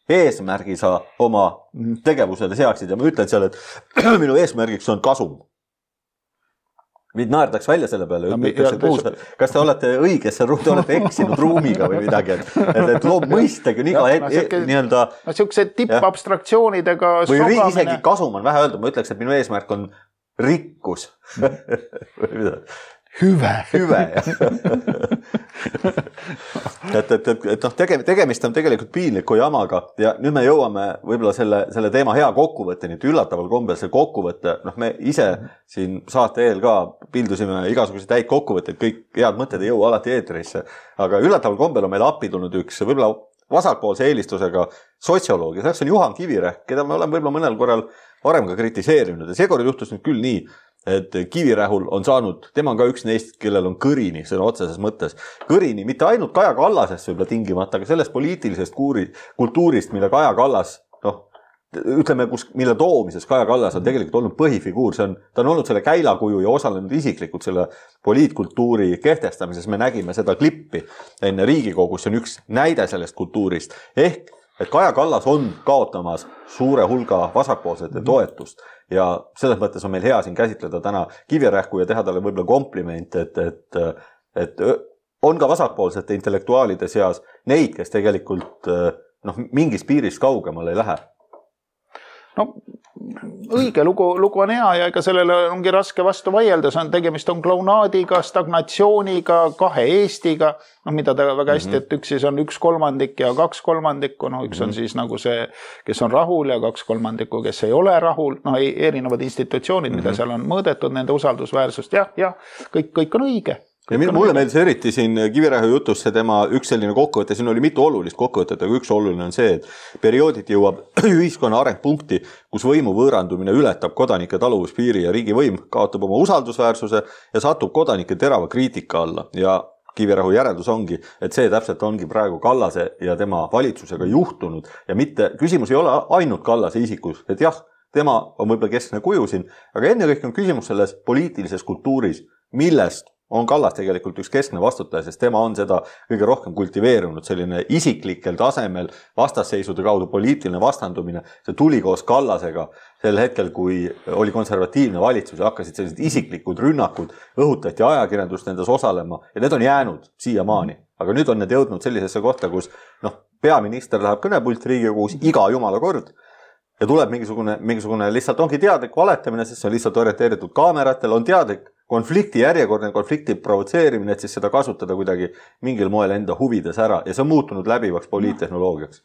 eesmärgi sa oma tegevusele seaksid ja ma ütlen seal, et minu eesmärgiks on kasum. Mind naerdaks välja selle peale, no, ütleks, et kuus, kas te olete õigesse, te olete eksinud ruumiga või midagi, et, et loob mõistagi on iga ja, no, e, nii-öelda... No siukse tippabstraktsioonidega või sogamine. Isegi kasum on vähe öeldud, ma ütleks, et minu eesmärk on rikkus. Hüve. Hüve, jah. et, et, et, et noh, tege, tegemist on tegelikult piinliku jamaga ja nüüd me jõuame võib-olla selle, selle teema hea kokkuvõtteni, et üllataval kombel see kokkuvõtte, noh me ise siin saate eel ka pildusime igasuguseid täid kokkuvõtteid, kõik head mõtted ei jõua alati eetrisse, aga üllataval kombel on meil appi tulnud üks võib-olla vasakpoolse eelistusega sotsioloogi, selleks on Juhan Kivirähk, keda me oleme võib-olla mõnel korral varem ka kritiseerinud ja seekord juhtus nüüd küll nii, et Kivirähul on saanud, tema on ka üks neist, kellel on kõrini sõna otseses mõttes. Kõrini mitte ainult Kaja Kallasest võib-olla tingimata, aga sellest poliitilisest kuuri, kultuurist, mille Kaja Kallas, noh, ütleme, kus, mille toomises Kaja Kallas on tegelikult olnud põhifiguur, see on, ta on olnud selle käilakuju ja osalenud isiklikult selle poliitkultuuri kehtestamises, me nägime seda klippi enne Riigikogus, see on üks näide sellest kultuurist, ehk et Kaja Kallas on kaotamas suure hulga vasakpoolsete toetust ja selles mõttes on meil hea siin käsitleda täna Kivirähku ja teha talle võib-olla kompliment, et, et, et on ka vasakpoolsete intellektuaalide seas neid, kes tegelikult noh, mingis piirist kaugemal ei lähe. No õige lugu, lugu on hea ja ega sellele ongi raske vastu vaielda, see on tegemist on klaunaadiga, stagnatsiooniga, kahe Eestiga, no mida ta väga hästi, mm -hmm. et üks siis on üks kolmandik ja kaks kolmandikku, no üks mm -hmm. on siis nagu see, kes on rahul ja kaks kolmandikku, kes ei ole rahul, no erinevad institutsioonid, mm -hmm. mida seal on mõõdetud, nende usaldusväärsust, jah, jah, kõik, kõik on õige. Ja mulle meeldis eriti siin Kivirähu jutus see tema üks selline kokkuvõte, siin oli mitu olulist kokkuvõtet, aga üks oluline on see, et periooditi jõuab ühiskonna arengpunkti, kus võimu võõrandumine ületab kodanike taluvuspiiri ja riigivõim kaotab oma usaldusväärsuse ja satub kodanike terava kriitika alla. Ja Kivirähu järeldus ongi, et see täpselt ongi praegu Kallase ja tema valitsusega juhtunud ja mitte, küsimus ei ole ainult Kallase isikus, et jah, tema on võib-olla keskne kuju siin, aga enne kõik on küsimus selles poliitilises kultuuris, millest on Kallas tegelikult üks keskne vastutaja, sest tema on seda kõige rohkem kultiveerunud, selline isiklikel tasemel vastasseisude kaudu poliitiline vastandumine. See tuli koos Kallasega sel hetkel, kui oli konservatiivne valitsus ja hakkasid sellised isiklikud rünnakud, õhutati ajakirjandust nendes osalema ja need on jäänud siiamaani. Aga nüüd on need jõudnud sellisesse kohta, kus noh, peaminister läheb kõnepult Riigikogus iga jumala kord ja tuleb mingisugune, mingisugune lihtsalt ongi teadlik valetamine, sest see on lihtsalt orienteeritud kaameratel, on teadlik konflikti järjekordne konflikti provotseerimine, et siis seda kasutada kuidagi mingil moel enda huvides ära ja see on muutunud läbivaks poliittehnoloogiaks.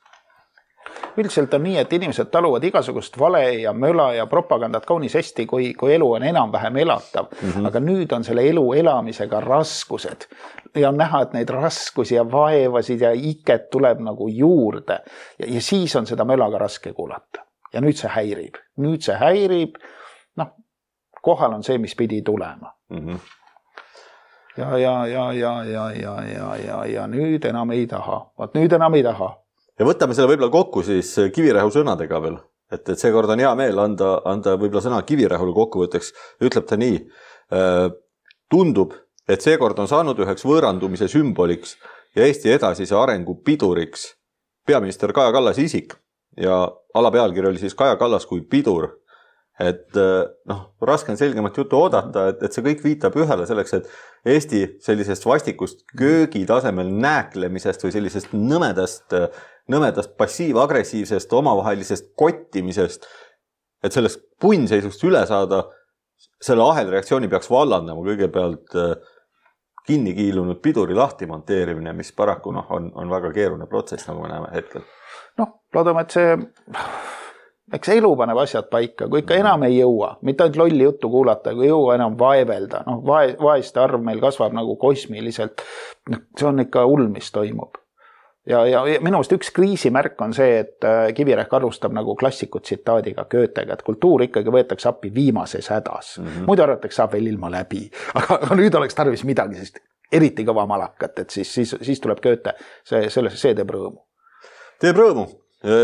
Üldiselt on nii, et inimesed taluvad igasugust vale ja möla ja propagandat kaunis hästi, kui, kui elu on enam-vähem elatav. Mm -hmm. Aga nüüd on selle elu elamisega raskused ja on näha, et neid raskusi ja vaevasid ja iket tuleb nagu juurde ja, ja siis on seda mölaga raske kuulata. Ja nüüd see häirib. Nüüd see häirib, noh, kohal on see, mis pidi tulema. Mm -hmm. ja, ja, ja, ja, ja, ja, ja, ja, ja nüüd enam ei taha. Vaat nüüd enam ei taha. Ja võtame selle võib-olla kokku siis Kivirähu sõnadega veel. Et, et seekord on hea meel anda, anda võib-olla sõna Kivirähule kokkuvõtteks. Ütleb ta nii, tundub, et seekord on saanud üheks võõrandumise sümboliks ja Eesti edasise arengu piduriks peaminister Kaja Kallas isik. Ja alapealkiri oli siis Kaja Kallas kui pidur. et noh, raske on selgemat juttu oodata, et, et see kõik viitab ühele selleks, et Eesti sellisest vastikust köögi tasemel nääklemisest või sellisest nõmedast, nõmedast passiiv-agressiivsest omavahelisest kottimisest, et sellest punnseisust üle saada, selle ahelreaktsiooni peaks vallandama kõigepealt kinni kiilunud piduri lahti monteerimine, mis paraku noh, on, on väga keeruline protsess, nagu me näeme hetkel. Noh, loodame, et see, eks elu paneb asjad paika, kui ikka enam ei jõua, mitte ainult lolli juttu kuulata, kui ei jõua enam vaevelda, noh, vae, vaeste arv meil kasvab nagu kosmiliselt, see on ikka hull, mis toimub. Ja, ja minust üks kriisimärk on see, et Kivirähk alustab nagu klassikut tsitaadiga Goethega, et kultuur ikkagi võetakse appi viimases hädas. Mm -hmm. Muidu arvatakse, saab veel ilma läbi, aga, aga nüüd oleks tarvis midagi, sest eriti kõva malakat, et siis, siis, siis tuleb Goethe, see, see, see teeb rõõmu. Teeb rõõmu.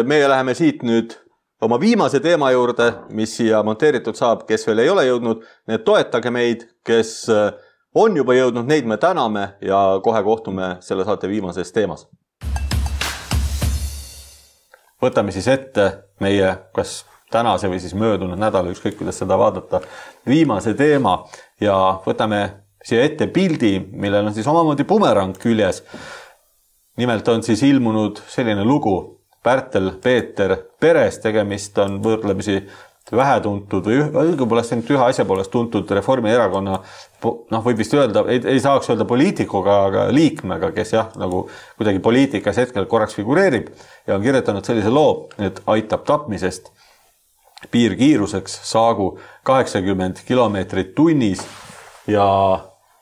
Meie läheme siit nüüd oma viimase teema juurde, mis siia monteeritud saab, kes veel ei ole jõudnud, need toetage meid, kes on juba jõudnud, neid me täname ja kohe kohtume selle saate viimases teemas. Võtame siis ette meie, kas tänase või siis möödunud nädala, ükskõik kuidas seda vaadata, viimase teema ja võtame siia ette pildi, millel on siis omamoodi bumerang küljes. Nimelt on siis ilmunud selline lugu Pärtel Peeter peres, tegemist on võrdlemisi vähetuntud või õigupoolest ainult ühe asja poolest tuntud Reformierakonna, noh võib vist öelda, ei, ei saaks öelda poliitikuga, aga liikmega, kes jah, nagu kuidagi poliitikas hetkel korraks figureerib ja on kirjutanud sellise loo, et aitab tapmisest piirkiiruseks saagu kaheksakümmend kilomeetrit tunnis ja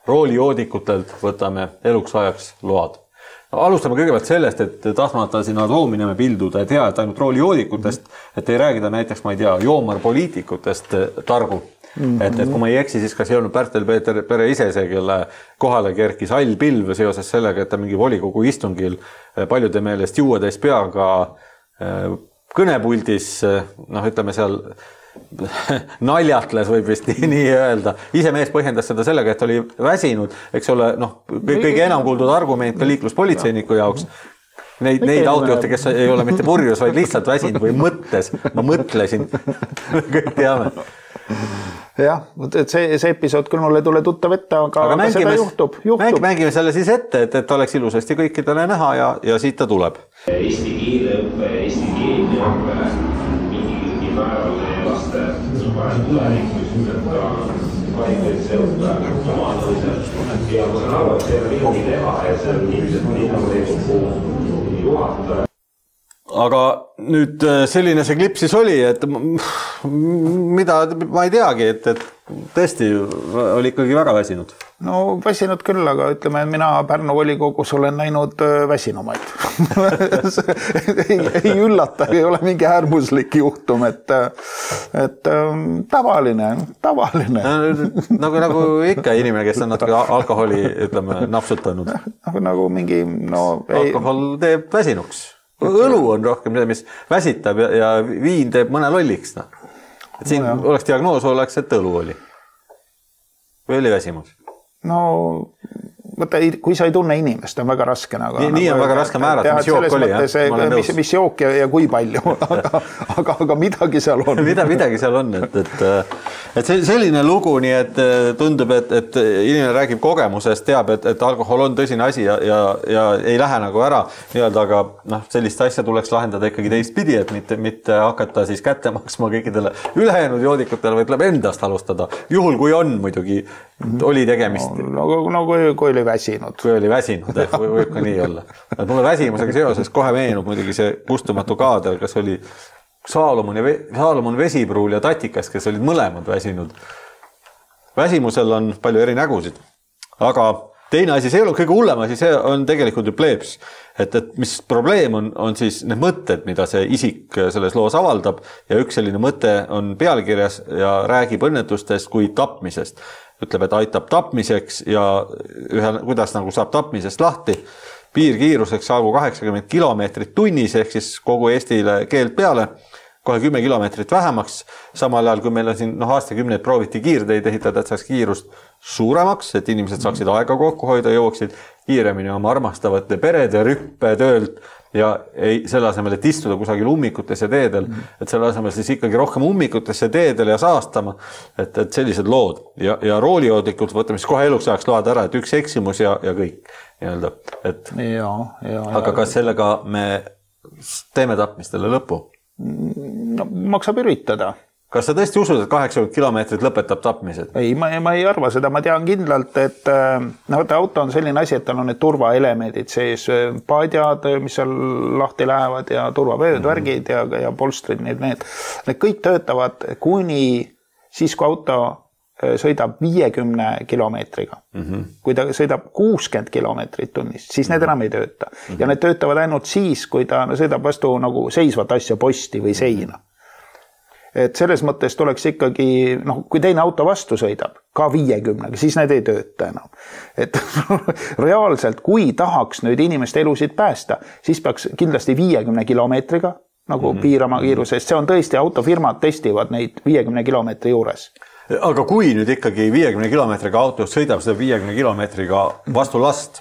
roolijoodikutelt võtame eluks ajaks load. No, alustame kõigepealt sellest, et tahtmata siin adoomineme pilduda, et hea, et ainult roolijoodikutest, et ei räägida näiteks, ma ei tea, joomarpoliitikutest targu. Mm-hmm. Et, et kui ma ei eksi, siis kas ei olnud Pärtel Peeter pere ise see, kelle kohale kerkis hall pilv seoses sellega, et ta mingi volikogu istungil paljude meelest juueteist peaga kõnepuldis, noh ütleme seal naljatles võib vist nii, nii öelda. Ise mees põhjendas seda sellega, et oli väsinud, eks ole, noh, kõige enam kuuldud argument ka liikluspolitseiniku jaoks. Neid, neid autojuhte, kes ei ole mitte purjus, vaid lihtsalt väsinud või mõttes. Ma mõtlesin, kõik teame. Jah, et see, see episood küll mulle tule tuttav ette, aga, aga mängime, seda juhtub. juhtub. Mängime selle siis ette, et, et oleks ilusasti kõikidele näha ja, ja siit ta tuleb. Eesti keeleõppe, Eesti keeleõppe, mingi määral laste parem tulevikus, et ka kvaliteetse õppe omanõusel. Ja ma saan aru, et see on midagi teha ja see on ilmselt linnavolikogu juhataja. Aga nüüd selline see klipp siis oli, et mida ma ei teagi, et, et tõesti oli ikkagi väga väsinud. No väsinud küll, aga ütleme, mina Pärnu volikogus olen näinud väsinumaid. ei, ei üllata, ei ole mingi äärmuslik juhtum, et, et tavaline, tavaline. Nagu, nagu ikka inimene, kes on natuke alkoholi, ütleme, napsutanud. Nagu, nagu mingi, no... Ei... Alkohol teeb väsinuks. Õlu on rohkem see, mis väsitab ja, ja viin teeb mõne lolliks. No. Et siin no, oleks diagnoos, oleks, et õlu oli. Või oli väsimus? No, võtta, kui sa ei tunne inimest, on väga raske. Nagu, nii, nii on väga raske määrata, mis jook oli. Mis, mis jook ja, ja kui palju, aga, aga, aga midagi seal on. Mida, midagi seal on, et, et, et selline lugu, nii et tundub, et, et inimene räägib kogemusest, teab, et, et alkohol on tõsine asi ja, ja, ja ei lähe nagu ära, nii-öelda, aga noh, sellist asja tuleks lahendada ikkagi teistpidi, et mitte, mitte hakata siis kätte maksma kõikidele ülejäänud joodikutele, või tuleb endast alustada. Juhul, kui on muidugi, oli tegemist. No, no, no kui, kui oli väsinud. Kui oli väsinud, eh, või, võib ka nii olla. Et mulle väsimusega seoses kohe meenub muidugi see kustumatu kaader, kas oli Saalomon, ja, Saalomon Vesipruul ja Tatikas, kes olid mõlemad väsinud. Väsimusel on palju eri nägusid, aga teine asi, see ei ole kõige hullem asi, see on tegelikult ju pleeps. Et, et mis probleem on, on siis need mõtted, mida see isik selles loos avaldab ja üks selline mõte on pealkirjas ja räägib õnnetustest kui tapmisest. Ütleb, et aitab tapmiseks ja ühe, kuidas nagu saab tapmisest lahti. Piirkiiruseks saagu kaheksakümmend kilomeetrit tunnis ehk siis kogu Eestile keelt peale. Kohe kümme kilomeetrit vähemaks, samal ajal kui meil on siin no, aastakümneid prooviti kiirteid ehitada, et saaks kiirust suuremaks, et inimesed saaksid aega kokku hoida, jooksid kiiremini oma armastavate perede rüppe töölt ja ei, selle asemel, et istuda kusagil ummikutes ja teedel, et selle asemel siis ikkagi rohkem ummikutes ja teedel ja saastama, et, et sellised lood. Ja, ja roolijoodlikud võtame siis kohe eluks ajaks load ära, et üks eksimus ja, ja kõik. Nii-öelda, et... ja, ja, aga kas sellega me teeme tapmistele lõpu? No, maksab üritada. Kas sa tõesti usud, et kaheksakümmend kilomeetrit lõpetab tapmised? Ei, ma, ma ei arva seda, ma tean kindlalt, et no, auto on selline asi, et tal on need turvaelemendid sees, paadjad, mis seal lahti lähevad ja turvavööd, mm-hmm. värgid ja, ja polstrid, need, need, need kõik töötavad kuni siis, kui auto sõidab viiekümne kilomeetriga. Mm-hmm. Kui ta sõidab kuuskümmend kilomeetrit tunnis, siis need enam ei tööta. Mm-hmm. Ja need töötavad ainult siis, kui ta sõidab vastu nagu seisvat asja posti või seina. Et selles mõttes tuleks ikkagi, noh, kui teine auto vastu sõidab, ka viiekümnega, siis need ei tööta enam. Et reaalselt, kui tahaks nüüd inimeste elusid päästa, siis peaks kindlasti viiekümne kilomeetriga nagu mm-hmm. piirama kiiruse, sest see on tõesti, autofirmad testivad neid viiekümne kilomeetri juures. Aga kui nüüd ikkagi viiekümne kilomeetriga autos sõidab seda viiekümne kilomeetriga vastu last,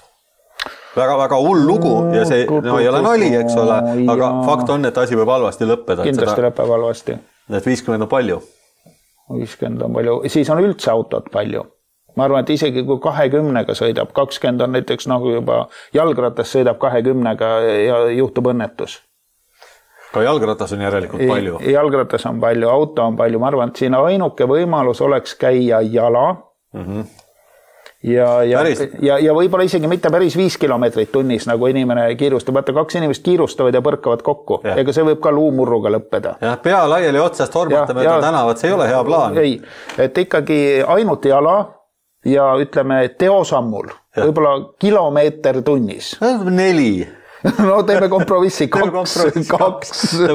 väga-väga hull lugu ja see no, ei ole nali, eks ole, aga fakt on, et asi võib halvasti lõppeda. Kindlasti seda... lõppeb halvasti. Et viiskümmend on palju. viiskümmend on palju. Siis on üldse autot palju. Ma arvan, et isegi kui kahekümnega sõidab, kakskümmend on näiteks nagu juba jalgratas sõidab kahekümnega ja juhtub õnnetus. Ka jalgratas on järelikult palju. Jalgratas on palju, auto on palju. Ma arvan, et siin ainuke võimalus oleks käia jala. Mm-hmm. Ja, ja, ja, ja võib-olla isegi mitte päris viis kilomeetrit tunnis, nagu inimene kiirustab. Vaata, kaks inimest kiirustavad ja põrkavad kokku. Ja. Ega see võib ka luumurruga lõppeda. Ja pea laiali otsast hormata mööda tänavat, see ei ole hea plaan. Ei, et ikkagi ainult jala ja ütleme teosammul. Ja. Võib-olla kilomeeter tunnis. Neli. No teeme kompromissi, kaks, kaks.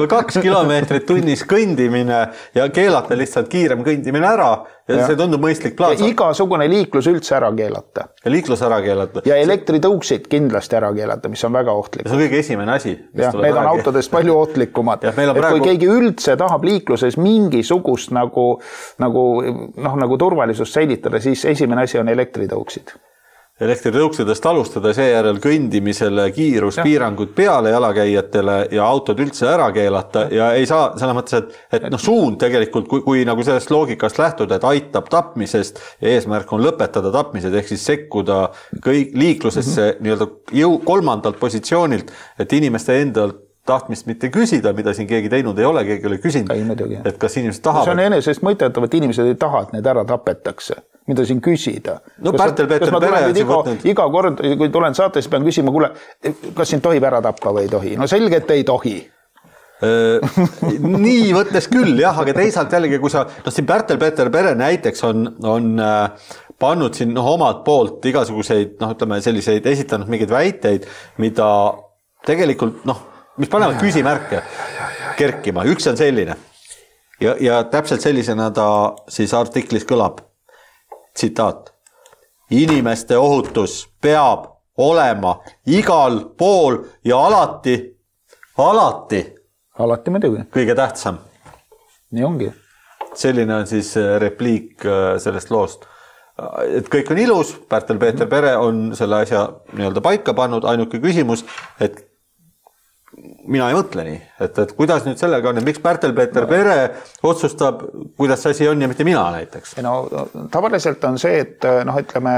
kaks kilomeetrit tunnis kõndimine ja keelata lihtsalt kiirem kõndimine ära ja, ja. See tundub mõistlik plaan. Ja igasugune liiklus üldse ära keelata. Ja liiklus ära keelata. Ja elektritõuksid kindlasti ära keelata, mis on väga ohtlik. See on kõige esimene asi. Ja, need on autodest palju ohtlikumad. Ja, et praegu... kui keegi üldse tahab liikluses mingisugust nagu, nagu, noh, nagu turvalisust säilitada, siis esimene asi on elektritõuksid. Elektritõuksidest alustada, seejärel kõndimisele kiiruspiirangud peale jalakäijatele ja autod üldse ära keelata ja ei saa selles mõttes, et, et noh, suund tegelikult, kui, kui nagu sellest loogikast lähtuda, et aitab tapmisest ja eesmärk on lõpetada tapmised, ehk siis sekkuda kõik liiklusesse mm-hmm. nii-öelda jõu kolmandalt positsioonilt, et inimeste endalt tahtmist mitte küsida, mida siin keegi teinud ei ole, keegi ei ole küsinud, et kas inimesed tahavad. See on enesest mõtetav, et inimesed ei taha, et need ära tapetakse. Mida siin küsida. No Pärtel Peeter Pere on siin võtnud. Iga kord, kui tulen saates, pean küsima, kuule, kas siin tohib ära tappa või ei tohi? No selge, et ei tohi. Nii võttes küll, jah, aga teisalt jällegi, kui sa, no siin Pärtel Peeter Pere näiteks on, on pannud siin no, omalt poolt igasuguseid, noh, ütleme selliseid, esitanud mingeid väiteid, mida tegelikult, noh, mis panevad küsimärke kerkima. Üks on selline ja, ja täpselt sellisena ta siis artiklis kõlab. Tsitaat. Inimeste ohutus peab olema igal pool ja alati, alati, alati muidugi. Kõige tähtsam. Nii ongi. Selline on siis repliik sellest loost. Et kõik on ilus, Pärtel Peeter Pere on selle asja nii-öelda paika pannud, ainuke küsimus, et mina ei mõtle nii, et, et kuidas nüüd sellega on, et miks Pärtel Peeter Pere otsustab, kuidas see asi on ja mitte mina näiteks? No, tavaliselt on see, et noh, ütleme,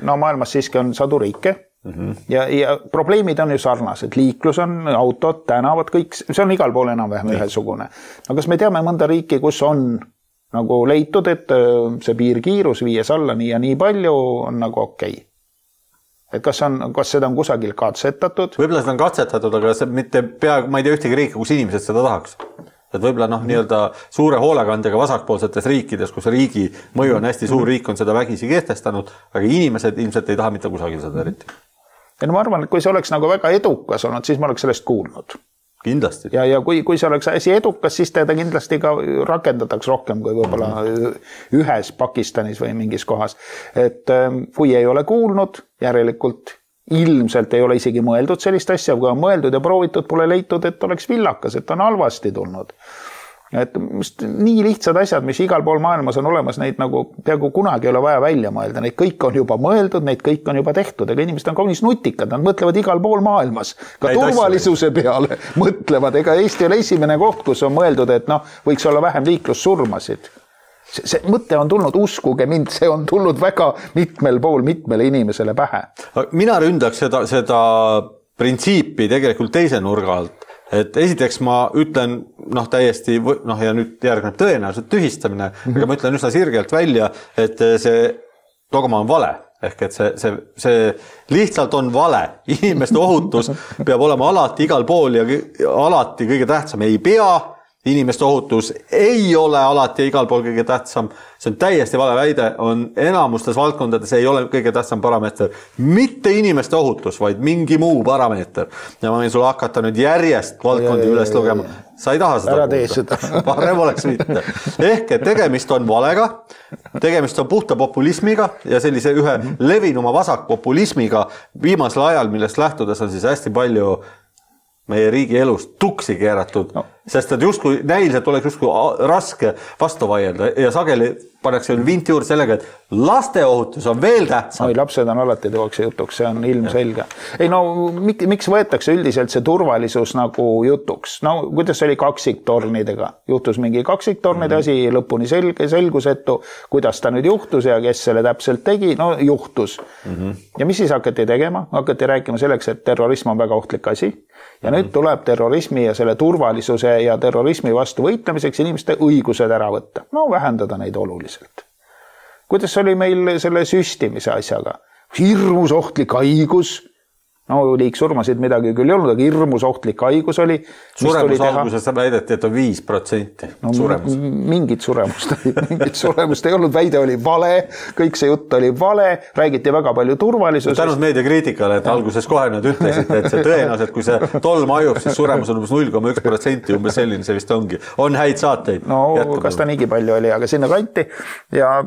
no maailmas siiski on sadu riike mm-hmm. ja, ja probleemid on ju sarnased. Liiklus on, autod, tänavad, kõik, see on igal pool enam-vähem ühesugune. No kas me teame mõnda riiki, kus on nagu leitud, et see piirkiirus viies alla nii ja nii palju on nagu okei? Okay. Et kas, on, kas seda on kusagil katsetatud? Võib-olla seda on katsetatud, aga see mitte pea, ma ei tea ühtegi riiki, kus inimesed seda tahaks. Et võib-olla noh, nii-öelda suure hoolekandega vasakpoolsetes riikides, kus riigi mõju on hästi suur, riik on seda vägisi kehtestanud, aga inimesed ilmselt ei taha mitte kusagil seda eriti. Ja no ma arvan, et kui see oleks nagu väga edukas olnud, siis ma oleks sellest kuulnud. Kindlasti. Ja, ja kui, kui see oleks hästi edukas, siis teda kindlasti ka rakendataks rohkem kui võib-olla ühes Pakistanis või mingis kohas. Et kui ei ole kuulnud, järelikult ilmselt ei ole isegi mõeldud sellist asja, kui on mõeldud ja proovitud, pole leitud, et oleks villakas, et on halvasti tulnud. et nii lihtsad asjad, mis igal pool maailmas on olemas, neid nagu peaaegu kunagi ei ole vaja välja mõelda, neid kõik on juba mõeldud, neid kõik on juba tehtud, ega inimesed on kaunis nutikad, nad mõtlevad igal pool maailmas, ka neid turvalisuse asju peale mõtlevad, ega Eesti oli esimene koht, kus on mõeldud, et noh, võiks olla vähem liiklussurmasid. See, see mõte on tulnud, uskuge mind, see on tulnud väga mitmel pool mitmele inimesele pähe. Mina ründaks seda, seda printsiipi tegelikult teise nurga alt. Et esiteks ma ütlen noh, täiesti, noh ja nüüd järgneb tõenäoliselt tühistamine, mm-hmm. aga ma ütlen üsna sirgelt välja, et see dogma on vale. Ehk et see, see, see lihtsalt on vale. Inimeste ohutus peab olema alati igal pool ja alati kõige tähtsam. Ei pea, inimeste ohutus ei ole alati ja igal pool kõige tähtsam. See on täiesti vale väide, on enamustes valdkondades ei ole kõige tähtsam parameeter. Mitte inimeste ohutus, vaid mingi muu parameeter. Ja ma võin sulle hakata nüüd järjest valdkondi üles lugema. Sa ei taha seda. Ära tee seda. Parem oleks mitte. Ehk et tegemist on valega, tegemist on puhta populismiga ja sellise ühe levinuma vasakpopulismiga viimasel ajal, millest lähtudes on siis hästi palju meie riigi elust tuksi keeratud, no. Sest et justkui näiliselt oleks justkui raske vastu vaielda ja sageli pannakse vint juurde sellega, et laste ohutus on veel tähtsam. Oi, lapsed on alati tuuakse jutuks, see on ilmselge. Ei no, miks võetakse üldiselt see turvalisus nagu jutuks? No kuidas oli kaksiktornidega? Juhtus mingi kaksiktornide mm. asi, lõpuni selge, selgusetu, kuidas ta nüüd juhtus ja kes selle täpselt tegi, no juhtus. Mm-hmm. Ja mis siis hakati tegema? Hakati rääkima selleks, et terrorism on väga ohtlik asi. Ja nüüd tuleb terrorismi ja selle turvalisuse ja terrorismi vastu võitlemiseks inimeste õigused ära võtta. No vähendada neid oluliselt. Kuidas oli meil selle süstimise asjaga? Hirmus ohtlik haigus. No liiksurmasid midagi küll ei olnud, aga hirmus ohtlik haigus oli. Suremus alguses väideti, et on viis protsenti no, suremus. Mingit suremust, mingit suremust ei olnud, väide oli vale, kõik see jutt oli vale, räägiti väga palju turvalisusest. Tänud meediakriitikale, et alguses kohe nad ütlesid, et see tõenäoliselt, kui see tolm ajub, siis suremus on umbes null koma üks protsenti, umbes selline see vist ongi. On häid saateid. No jätkub kas ta niigi palju oli, aga sinna kanti ja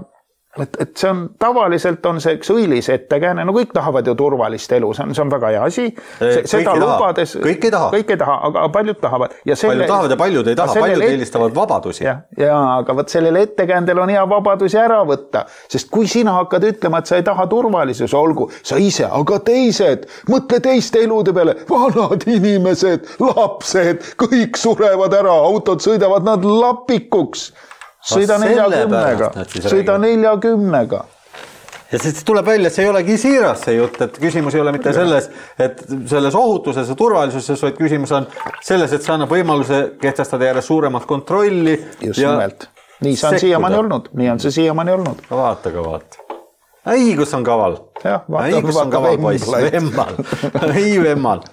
Et, et see on, tavaliselt on see üks õilis ettekääne, no kõik tahavad ju turvalist elu, see on, see on väga hea asi. See, seda lubades, kõik ei taha. Kõik ei taha, aga paljud tahavad. Ja selle, paljud tahavad ja paljud ei taha, paljud et... eelistavad vabadusi. Ja, ja, aga võt sellele ettekäändel on hea vabadusi ära võtta, sest kui sina hakkad ütlema, et sa ei taha turvalisus, olgu, sa ise, aga teised, mõtle teiste elude peale, vanad inimesed, lapsed, kõik surevad ära, autod sõidavad nad lapikuks. Sõida neljakümnega, sõida neljakümnega. Ja siis tuleb välja, et see ei olegi siiras see jutt, et küsimus ei ole mitte selles, et selles ohutuses ja turvalisuses, vaid küsimus on selles, et see annab võimaluse kehtestada järjest suuremat kontrolli. Just nimelt. Nii see on siiamaani olnud, nii on see siiamaani olnud. Vaata ka vaata. Ei, kus on kaval. Ja, vaata, ei, kus on kaval poiss, vemmal. Ei, vemmal.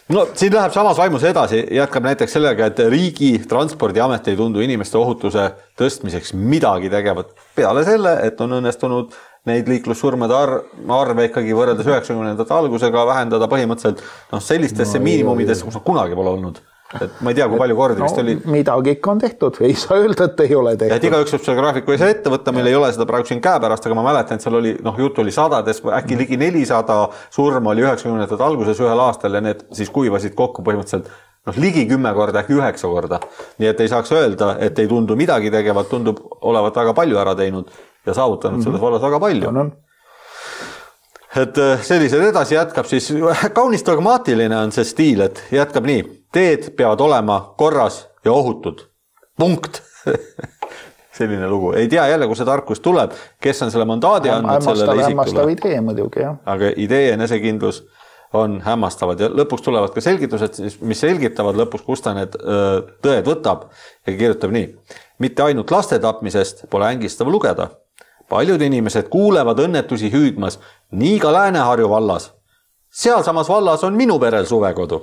No, siin läheb samas vaimus edasi, jätkab näiteks sellega, et riigi transpordiamet ei tundu inimeste ohutuse tõstmiseks midagi tegevat. Peale selle, et on õnnestunud neid liiklussurmade arve ikkagi võrreldes üheksakümnendate algusega vähendada põhimõtteliselt no, sellistesse no, miinimumides, kus on kunagi pole olnud. Et ma ei tea, kui palju kordi no, vist oli. Midagi ikka on tehtud, ei saa öelda, et ei ole tehtud. Et iga üks võib selle graafiku ei saa ette võtta, meil ei ole seda praegu siin käe pärast, aga ma mäletan, et seal oli, noh, jutt oli sadades, äkki ligi nelisada surma oli üheksakümnendate alguses ühel aastal ja need siis kuivasid kokku põhimõtteliselt noh, ligi kümme korda, äkki üheksa korda. Nii et ei saaks öelda, et ei tundu midagi tegevat, tundub olevat väga palju ära teinud ja saavutanud mm-hmm. selles vallas väga palju. No, no. Et sellised edasi jätkab siis, kaunis dogmaatiline on see stiil, et jätkab nii, teed peavad olema korras ja ohutud. Punkt. Selline lugu. Ei tea jälle, kus see tarkus tuleb, kes on selle mandaadi andnud sellele isikule. Hämmastav idee muidugi, jah. Aga idee enesekindlus on hämmastavad ja lõpuks tulevad ka selgitused, mis selgitavad lõpuks, kus ta need tõed võtab ja kirjutab nii. Mitte ainult laste tapmisest pole ängistav lugeda. Paljud inimesed kuulevad õnnetusi hüüdmas, nii ka Lääne-Harju vallas. Seal samas vallas on minu perel suvekodu.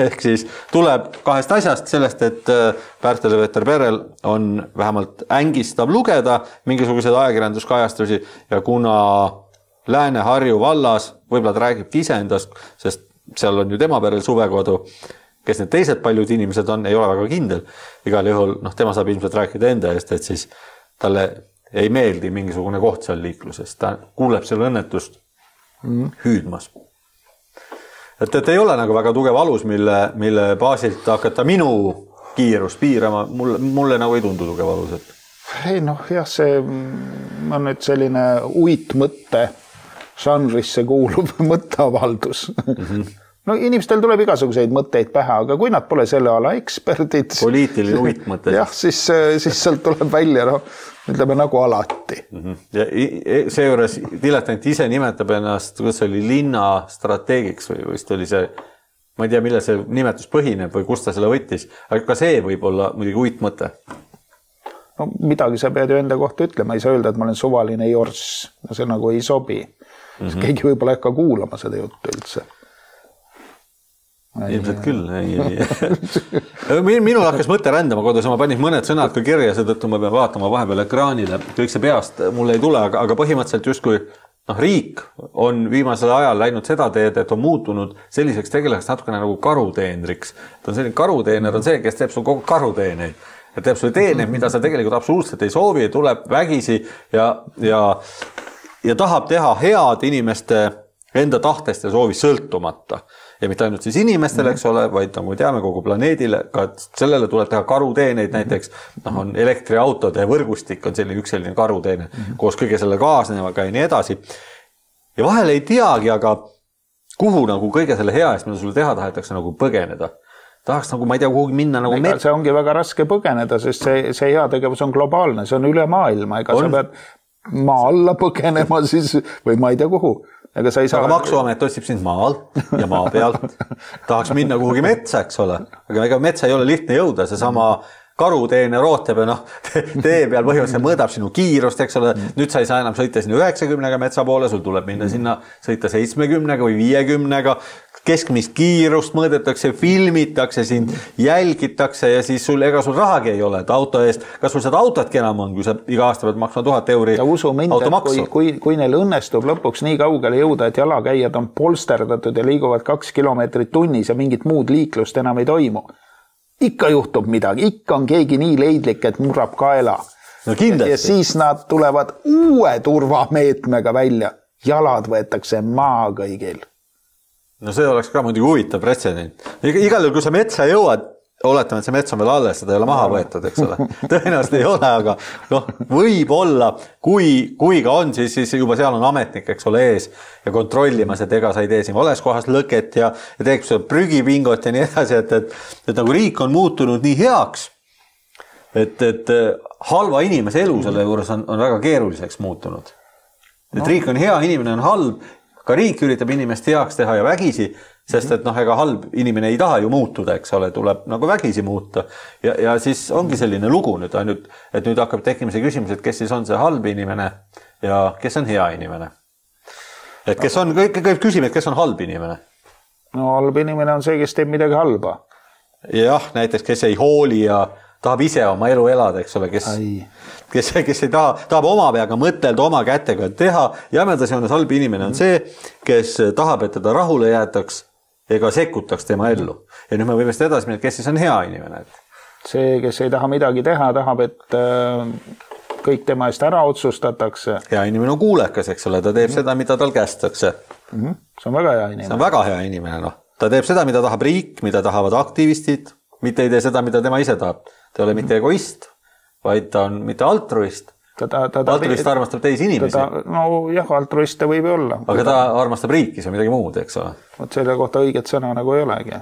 Ehk siis tuleb kahest asjast sellest, et Pärtel-Veeter perel on vähemalt ängistav lugeda mingisuguseid ajakirjanduskajastusi ja kuna Lääne-Harju vallas, võib-olla ta räägibki iseendast, sest seal on ju tema perel suvekodu, kes need teised paljud inimesed on, ei ole väga kindel. Igal juhul, noh, tema saab ilmselt rääkida enda eest, et siis talle ei meeldi mingisugune koht seal liikluses. Ta kuuleb selle õnnetust mm. hüüdmas. Et, et ei ole nagu väga tugev alus, mille, mille baasilt hakata minu kiirus piirama, mulle, mulle nagu ei tundu tugev alus, et ei noh, jah, see on nüüd selline uitmõtte žanrisse kuulub mõtteavaldus. Mm-hmm. No inimestel tuleb igasuguseid mõtteid pähe, aga kui nad pole selle ala eksperdid... Poliitiline uitmõte. Jah, siis, siis sealt tuleb välja, no, ütleme nagu alati. Mm-hmm. Ja see juures dilettant ise nimetab ennast, kuidas oli linna strateegiks või vist oli see, ma ei tea, mille see nimetus põhineb või kust ta selle võttis, aga ka see võib olla muidugi uitmõte. No midagi sa pead ju enda kohta ütlema, ei saa öelda, et ma olen suvaline jorss, no see nagu ei sobi. Mm-hmm. Keegi võib-olla äkka kuulama seda juttu üldse. Ilmselt küll. Ei, ei. Minul hakkas mõte rändama kodus, ma panin mõned sõnad ka kirja, seetõttu ma pean vaatama vahepeal ekraanile. Kõik see peast mulle ei tule, aga, aga põhimõtteliselt just kui noh, riik on viimasel ajal läinud seda teed, et on muutunud selliseks tegelaseks natukene nagu karuteenriks. Ta on selline karuteener on see, kes teeb sul kogu karuteeneid. Ja teeb sulle teeneid, mida sa tegelikult absoluutselt ei soovi, tuleb vägisi ja, ja, ja tahab teha head inimeste enda tahtest ja soovi sõltumata. Ja mitte ainult siis inimestele, eks ole, vaid nagu teame kogu planeedile, ka sellele tuleb teha karuteeneid, näiteks noh, on elektriautode võrgustik on selline üks selline karuteene, koos kõige selle kaasnevaga ja nii edasi. Ja vahel ei teagi, aga kuhu nagu kõige selle hea eest, mida sulle teha tahetakse nagu põgeneda. Tahaks nagu, ma ei tea, kuhugi minna nagu... Ega see ongi väga raske põgeneda, sest see, see hea tegevus on globaalne, see on üle maailma, ega on... sa pead maa alla põgenema siis või ma ei tea kuhu. Ega sa ei saa... Aga maksuamet otsib sind maal ja maa pealt. Tahaks minna kuhugi metsa, eks ole. Aga ega metsa ei ole lihtne jõuda, see sama karuteene rootab ja noh, tee peal põhimõtteliselt mõõdab sinu kiirust, eks ole. Nüüd sa ei saa enam sõita sinna üheksakümnega metsa poole, sul tuleb minna sinna sõita seitsmekümnega või viiekümnega. Keskmist kiirust mõõdetakse, filmitakse sind, jälgitakse ja siis sul, ega sul rahagi ei ole, et auto eest, kas sul seda autotki enam on, kui sa iga aasta pead maksma tuhat euri ja usu mind, kui, kui, kui neil õnnestub lõpuks nii kaugele jõuda, et jalakäijad on polsterdatud ja liiguvad kaks kilomeetrit tunnis ja mingit muud liiklust enam ei toimu. Ikka juhtub midagi, ikka on keegi nii leidlik, et murrab kaela. No kindlasti. Ja siis nad tulevad uue turvameetmega välja. Jalad võetakse maa kõigil. No see oleks ka muidugi huvitav pretsedent. Igal juhul, kui sa metsa jõuad, oletame, et see mets on veel alles, seda ei ole maha võetud, eks ole. Tõenäoliselt ei ole, aga noh, võib olla, kui, kui ka on, siis, siis juba seal on ametnik, eks ole, ees ja kontrollimas, et ega sa ei tee siin vales kohas lõket ja, ja teeks prügipingot ja nii edasi, et, et, et nagu riik on muutunud nii heaks, et, et halva inimese elu selle juures on, on väga keeruliseks muutunud. Et no. Riik on hea, inimene on halb, ka riik üritab inimest heaks teha ja vägisi, sest et noh, ega halb inimene ei taha ju muutuda, eks ole, tuleb nagu vägisi muuta. Ja, ja siis ongi selline lugu nüüd ainult, et nüüd hakkab tekkima see küsimus, et kes siis on see halb inimene ja kes on hea inimene. Et kes on, kõik, kõik küsime, et kes on halb inimene. No halb inimene on see, kes teeb midagi halba. Jah, näiteks kes ei hooli ja tahab ise oma elu elada, eks ole, kes, kes, kes ei taha, tahab oma peaga mõtelda, oma kätega teha. Jämedas joones halb inimene on see, kes tahab, et teda rahule jäetaks ega sekkutaks tema ellu. Ja nüüd me võime seda edasi minna, kes siis on hea inimene. See, kes ei taha midagi teha, tahab, et kõik tema eest ära otsustatakse. Hea inimene on kuulekas, eks ole, ta teeb mm-hmm. seda, mida tal kästakse. Mm-hmm. See on väga hea inimene. See on väga hea inimene, noh. Ta teeb seda, mida tahab riik, mida tahavad aktivistid, mitte ei tee seda, mida tema ise tahab. Ta ei ole mitte egoist, vaid ta on mitte altruist. Ta, ta, ta, altruist ta, armastab teisi inimesi. Ta, no jah, altruist ta võib olla. Aga ta, ta armastab riiki, see on midagi muud, eks ole. Võt selle kohta õiget sõna nagu ei olegi.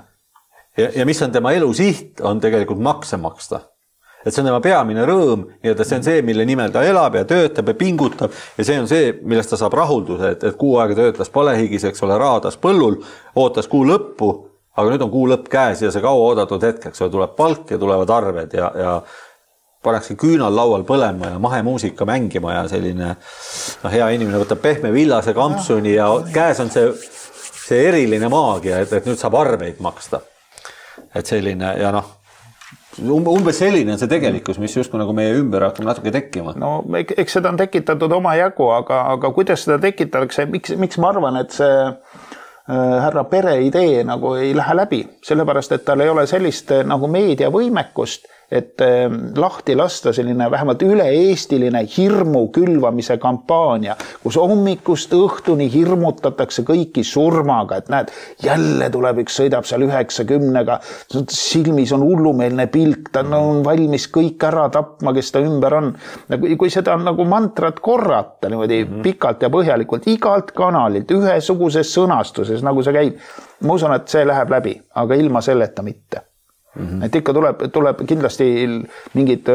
Ja, ja mis on tema elu siht, on tegelikult makse maksta. Et see on tema peamine rõõm, nii et see on see, mille nimel ta elab ja töötab ja pingutab ja see on see, millest ta saab rahulduse, et, et kuu aega töötlas palehigis, eks ole, raadas põllul, ootas kuu lõppu, aga nüüd on kuu lõpp käes ja see kaua oodatud hetk, eks ole, tuleb palk ja tulevad arved ja, ja pannakse küünal laual põlema ja mahemuusika mängima ja selline no, hea inimene võtab pehme villase kampsuni ja käes on see, see eriline maagia, et, et nüüd saab arveid maksta. Et selline ja noh, umbes selline on see tegelikkus, mis justkui nagu meie ümber hakkab natuke tekkima. No eks seda on tekitatud oma jagu, aga, aga kuidas seda tekitatakse, miks, miks ma arvan, et see härra pere idee nagu ei lähe läbi, sellepärast, et tal ei ole sellist nagu meediavõimekust, et lahti lasta selline vähemalt üle-eestiline hirmu külvamise kampaania, kus hommikust õhtuni hirmutatakse kõiki surmaga, et näed, jälle tuleb üks, sõidab seal üheksakümnega, silmis on hullumeelne pilk, ta on valmis kõik ära tapma, kes ta ümber on. Kui seda on nagu mantrat korrata niimoodi mm -hmm. pikalt ja põhjalikult, igalt kanalilt, ühesuguses sõnastuses, nagu see käib, ma usun, et see läheb läbi, aga ilma selleta mitte. Mm-hmm. Et ikka tuleb, tuleb kindlasti mingid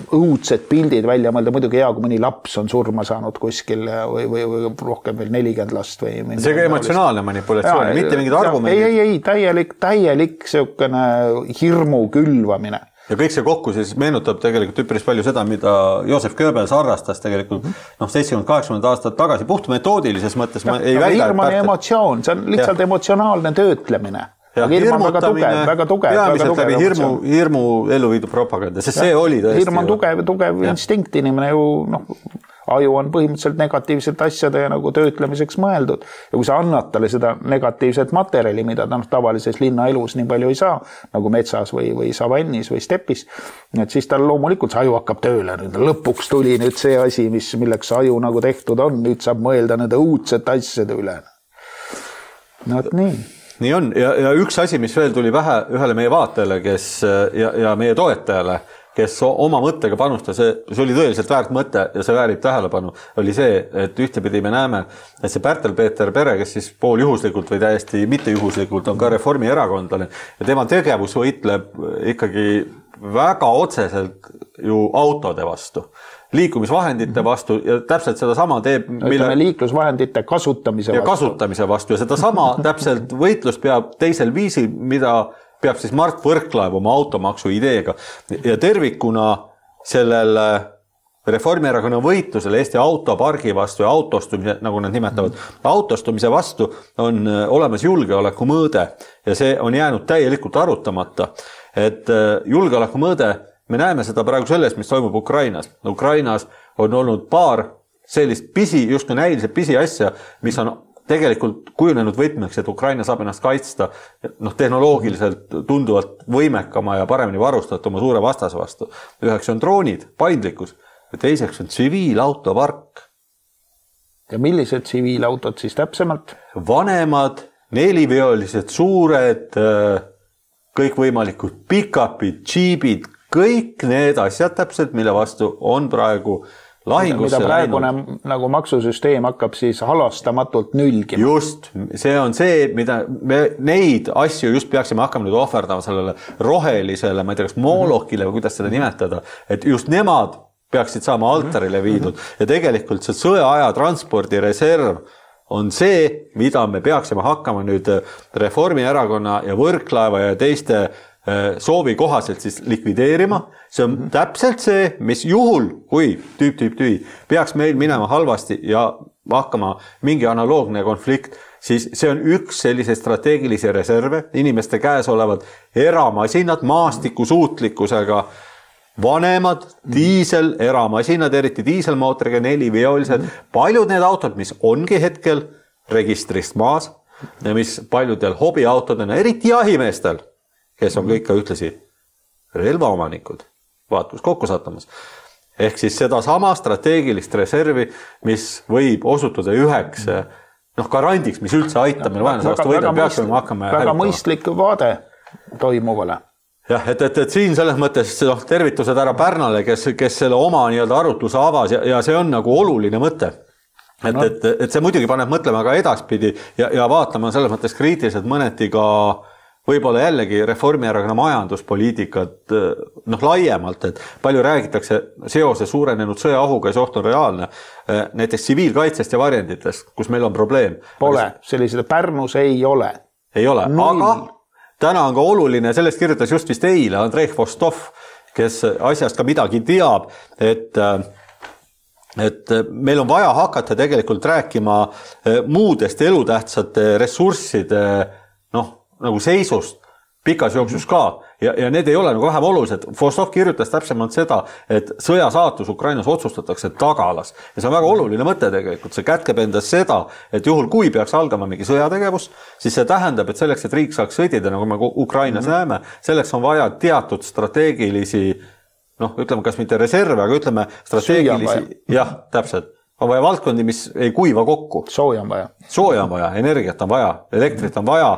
õudsed pildid välja mõelda, muidugi hea, kui mõni laps on surma saanud kuskil või, või, või rohkem veel nelikümmend last. Või see ka emotsionaalne manipulatsioon, ja, mitte mingid argumendid. Ei, ei, ei, täielik, täielik selline hirmu külvamine. Ja kõik see kokku siis meenutab tegelikult üpris palju seda, mida Joseph Goebbels harrastas tegelikult noh, seitsekümmend kaheksakümmend aastat tagasi, puht metoodilises mõttes. Ja, ei väida, hirm on emotsioon, see on lihtsalt ja. emotsionaalne töötlemine. Ja hirm on väga tugev, väga tugev. Peamiselt läbi hirmu, hirmu ellu viidud propaganda, sest ja, see oli tõesti. Hirm on tugev, tugev ja. instinkt, inimene ju, noh, aju on põhimõtteliselt negatiivsete asjade ja nagu töötlemiseks mõeldud. Ja kui sa annad talle seda negatiivset materjali, mida ta noh, tavalises linnaelus nii palju ei saa, nagu metsas või, või savannis või stepis, et siis tal loomulikult see aju hakkab tööle. Nüüd lõpuks tuli nüüd see asi, mis, milleks aju nagu tehtud on, nüüd saab mõelda nende õudsete asjade üle. No et nii. Nii on ja, ja üks asi, mis veel tuli vähe ühele meie vaatajale, kes ja, ja meie toetajale, kes oma mõttega panustas, see, see oli tõeliselt väärt mõte ja see väärib tähelepanu, oli see, et ühtepidi me näeme, et see Pärtel-Peeter Pere, kes siis pool juhuslikult või täiesti mitte juhuslikult on ka Reformierakondlane ja tema tegevus võitleb ikkagi väga otseselt ju autode vastu, liikumisvahendite vastu ja täpselt seda sama teeb mille... liiklusvahendite kasutamise ja vastu. kasutamise vastu ja seda sama täpselt võitlus peab teisel viisil, mida peab siis Mart Võrklaev oma automaksu ideega ja tervikuna sellele Reformierakonna võitlusele Eesti autopargi vastu ja autostumise, nagu nad nimetavad, autostumise vastu on olemas julgeoleku mõõde ja see on jäänud täielikult arutamata, et julgeoleku mõõde me näeme seda praegu sellest, mis toimub Ukrainas. Ukrainas on olnud paar sellist pisi, just kui näiliselt pisi asja, mis on tegelikult kujunenud võtmeks, et Ukraina saab ennast kaitsta noh, tehnoloogiliselt tunduvalt võimekama ja paremini varustatuma suure vastase vastu. Üheks on droonid, paindlikkus ja teiseks on tsiviilautopark. Ja millised tsiviilautod siis täpsemalt? Vanemad, neliveolised, suured, kõikvõimalikud pick-upid, džiibid, kõik need asjad täpselt, mille vastu on praegu lahingusse mida praegune läinud. Nagu maksusüsteem hakkab siis halastamatult nülgima. Just, see on see, mida me neid asju just peaksime hakkama nüüd ohverdama sellele rohelisele, ma ei tea, kas moolokile või kuidas seda nimetada, et just nemad peaksid saama altarile viidud ja tegelikult see sõjaaja transpordireserv on see, mida me peaksime hakkama nüüd Reformierakonna ja Võrklaeva ja teiste soovi kohaselt siis likvideerima. See on täpselt see, mis juhul, kui tüüp, tüüp, tüü, peaks meil minema halvasti ja hakkama mingi analoogne konflikt, siis see on üks sellise strateegilisi reserve, inimeste käes olevad eramasinad, maastiku suutlikkusega, vanemad, diisel, eramasinad, eriti diiselmootoriga, neliveolised, paljud need autod, mis ongi hetkel registrist maas ja mis paljudel hobiautodena, eriti jahimeestel, kes on kõik ka ühtlasi relvaomanikud, vaatus kokku sattumas. Ehk siis seda sama strateegilist reservi, mis võib osutuda üheks noh, garandiks, mis üldse aitab meil vaenlase vastu võida, peaksime hakkama väga hävitama. Mõistlik vaade toimuvale. Jah, et, et, et siin selles mõttes noh, tervitused ära Pärnale, kes, kes selle oma nii-öelda arutluse avas ja, ja see on nagu oluline mõte. Et, no. et, et see muidugi paneb mõtlema ka edaspidi ja, ja vaatama selles mõttes kriitiliselt mõneti ka võib-olla jällegi Reformierakonna majanduspoliitikat noh, laiemalt, et palju räägitakse seose suurenenud sõjaohuga ja see oht on reaalne. Näiteks tsiviilkaitsest ja varjenditest, kus meil on probleem. Pole, sellised Pärnus ei ole. Ei ole, Null. Aga täna on ka oluline, sellest kirjutas just vist eile Andrei Vostov, kes asjast ka midagi teab, et et meil on vaja hakata tegelikult rääkima muudest elutähtsate ressursside noh, nagu seisust pikas jooksus ka ja, ja need ei ole nagu vähem olulised. Vostok kirjutas täpsemalt seda, et sõja saatus Ukrainas otsustatakse tagalas. Ja see on väga oluline mõte tegelikult. See kätkeb endas seda, et juhul kui peaks algama mingi sõjategevus, siis see tähendab, et selleks, et riik saaks sõdida, nagu me Ukrainas mm-hmm. näeme, selleks on vaja teatud strateegilisi, noh, ütleme, kas mitte reserve, aga ütleme strateegilisi, jah, täpselt. On vaja valdkondi, mis ei kuiva kokku. Sooja on vaja. Sooja on vaja, energiat on vaja, elektrit on vaja,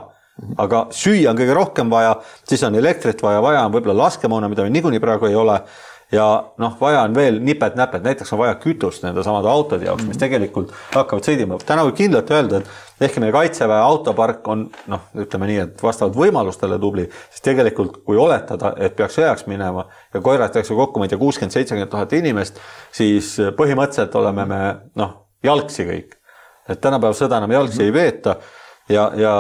aga süüa on kõige rohkem vaja, siis on elektrit vaja, vaja on võib-olla laskemoona, mida meil niikuinii praegu ei ole, ja noh, vaja on veel nipet-näpet, näiteks on vaja kütust nende samade autode jaoks, mis tegelikult hakkavad sõidima. Täna võib kindlalt öelda, et ehkki meie kaitseväe autopark on, noh, ütleme nii, et vastavalt võimalustele tubli, siis tegelikult kui oletada, et peaks sõjaks minema ja koeratakse kokku, ma ei tea, kuuskümmend seitsekümmend tuhat inimest, siis põhimõtteliselt oleme me, noh, jalgsi kõik. Et tänapäev sõda enam jalgsi ei veeta ja, ja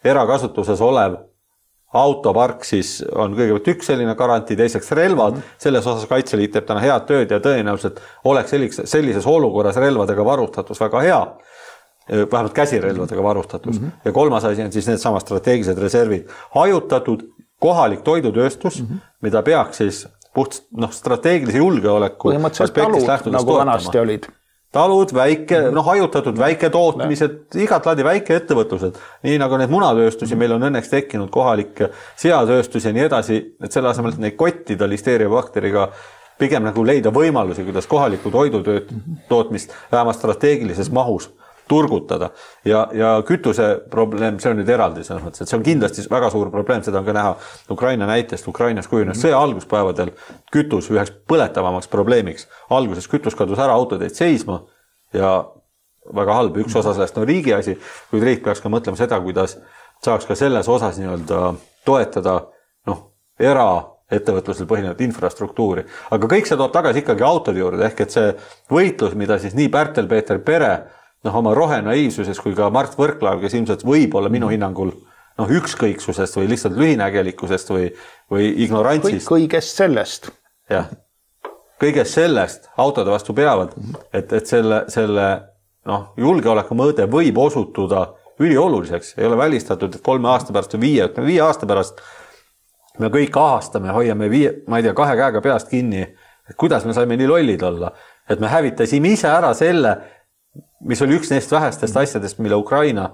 erakasutuses olev autopark siis on kõigepealt üks selline garantii, teiseks relvad. Selles osas Kaitseliit teeb täna head tööd ja tõenäoliselt oleks sellises olukorras relvadega varustatus väga hea. Vähemalt käsirelvadega varustatus. Mm -hmm. Ja kolmas asi on siis need sama strateegilised reservid. Hajutatud kohalik toidutööstus, mm -hmm. mida peaks siis puht noh, strateegilise julgeoleku aspektist lähtudes nagu vanasti olid. Talud, väike, noh, hajutatud väike tootmised, igat laadi väike ettevõtlused, nii nagu need munatööstusi, meil on õnneks tekkinud kohalik seatööstus ja nii edasi, et selle asemel, et neid kottida listeeriabakteriga pigem nagu leida võimalusi, kuidas kohaliku toidutööt tootmist vähemalt strateegilises mahus turgutada. Ja, ja kütuse probleem, see on nüüd eraldi selles mõttes, et see on kindlasti väga suur probleem, seda on ka näha Ukraina näitest. Ukrainas kujunes sõja alguspäevadel kütus üheks põletavamaks probleemiks. Alguses kütus kadus ära autoteid seisma ja väga halb, üks osa sellest on riigi asi, kuid riik peaks ka mõtlema seda, kuidas saaks ka selles osas nii-öelda toetada noh, eraettevõtlusel põhinevat infrastruktuuri. Aga kõik see toob tagasi ikkagi autode juurde, ehk et see võitlus, mida siis nii Pärtel-Peeter Pere noh, oma rohenaiivsuses kui ka Mart Võrklaev, kes ilmselt võib olla minu hinnangul noh, ükskõiksusest või lihtsalt lühinägelikkusest või, või ignorantsist. Kõigest sellest. Jah, kõigest sellest autode vastu peavad, et, et selle, selle noh, julgeoleku mõõde võib osutuda ülioluliseks. Ei ole välistatud, et kolme aasta pärast või viie, viie aasta pärast me kõik ahastame, hoiame viie, ma ei tea, kahe käega peast kinni, et kuidas me saime nii lollid olla, et me hävitasime ise ära selle, mis oli üks neist vähestest asjadest, mille Ukraina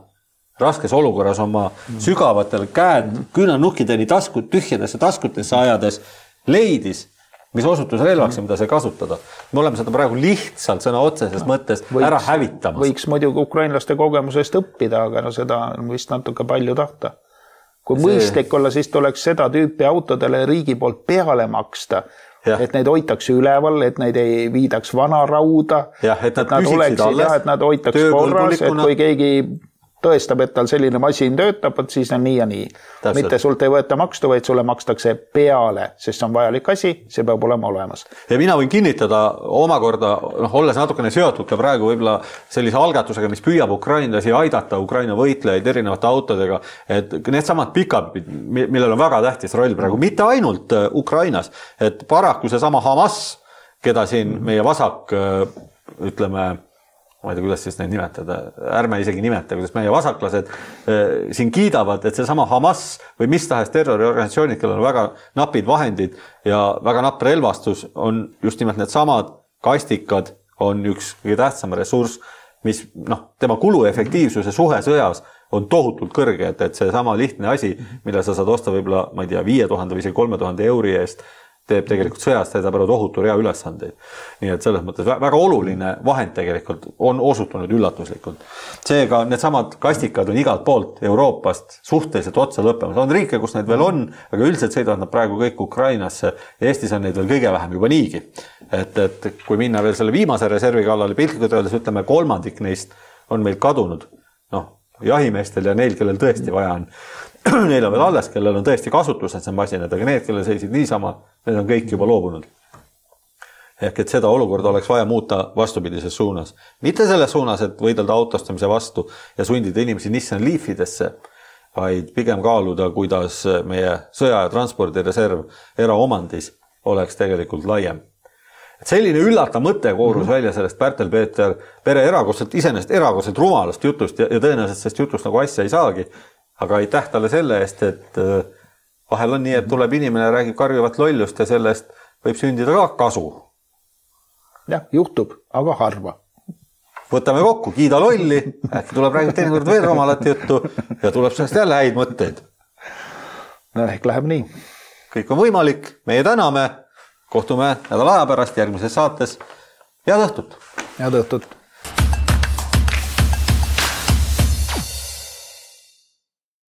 raskes olukorras oma sügavatel käed küünannukkideni taskut, tühjadesse taskutesse ajades leidis, mis osutus relvaks ja mida see kasutada. Me oleme seda praegu lihtsalt sõna otseses mõttes võiks, ära hävitamas. Võiks muidugi ukrainlaste kogemusest õppida, aga no seda on vist natuke palju tahta. Kui see... mõistlik olla, siis tuleks seda tüüpi autodele riigi poolt peale maksta. Ja. Et neid hoitakse üleval, et neid ei viidaks vana rauda, ja, et nad, et nad oleksid alles, ja, et nad hoitaks korras, et kui keegi tõestab, et tal selline masin töötab, siis on nii ja nii. Täpselt. Mitte sult ei võeta makstu, vaid sulle makstakse peale, sest see on vajalik asi, see peab olema olemas. Ja mina võin kinnitada omakorda, noh, olles natukene seotud ka praegu võibla sellise algatusega, mis püüab ukrainlasi aidata, Ukraina võitlejaid erinevate autodega, et need samad pikapid, millel on väga tähtis roll praegu, mitte ainult Ukrainas, et paraku see sama Hamas, keda siin meie vasak, ütleme, ma ei tea, kuidas siis neid nimetada, ärme isegi nimeta, kuidas meie vasaklased eh, siin kiidavad, et see sama Hamas või mis tahes terroriorganisatsioonid, kellel on väga napid vahendid ja väga napp relvastus, on just nimelt need samad kastikad, on üks kõige tähtsam ressurss, mis noh, tema kuluefektiivsuse suhe sõjas on tohutult kõrge, et, et see sama lihtne asi, mille sa saad osta võib-olla, ma ei tea, viie tuhande või kolme tuhande euri eest, teeb tegelikult sõjast, teeb ära tohutu rea ülesandeid. Nii et selles mõttes väga oluline vahend tegelikult on osutunud üllatuslikult. Seega need samad kastikad on igalt poolt Euroopast suhteliselt otsa lõppemas. On riike, kus neid veel on, aga üldiselt sõidavad nad praegu kõik Ukrainasse. Eestis on neid veel kõige vähem juba niigi. Et, et kui minna veel selle viimase reservi kallale piltlikult öeldes, ütleme kolmandik neist on meil kadunud. Noh, jahimeestel ja neil, kellel tõesti vaja on. Neil on veel alles, kellel on tõesti kasutused see masinad, aga need, kellel seisid niisama, need on kõik juba loobunud. Ehk et seda olukorda oleks vaja muuta vastupidises suunas. Mitte selles suunas, et võidelda autostamise vastu ja sundida inimesi Nissan Leafidesse, vaid pigem kaaluda, kuidas meie sõja- ja transpordireserv eraomandis oleks tegelikult laiem. Et selline üllata mõte koorus mm-hmm. välja sellest Pärtel-Peeter Pere erakordselt, iseenesest erakordselt rumalast jutust ja, ja tõenäoliselt sellest jutust nagu asja ei saagi. Aga aitäh talle selle eest, et vahel on nii, et tuleb inimene, räägib karjuvat lollust ja sellest võib sündida ka kasu. jah, juhtub, aga harva. Võtame kokku, kiida lolli, äkki tuleb räägib teinekord veel rumalat juttu ja tuleb sellest jälle häid mõtteid. No ehk läheb nii. Kõik on võimalik, meie täname, kohtume nädala aja pärast järgmises saates. Head õhtut! Head õhtut!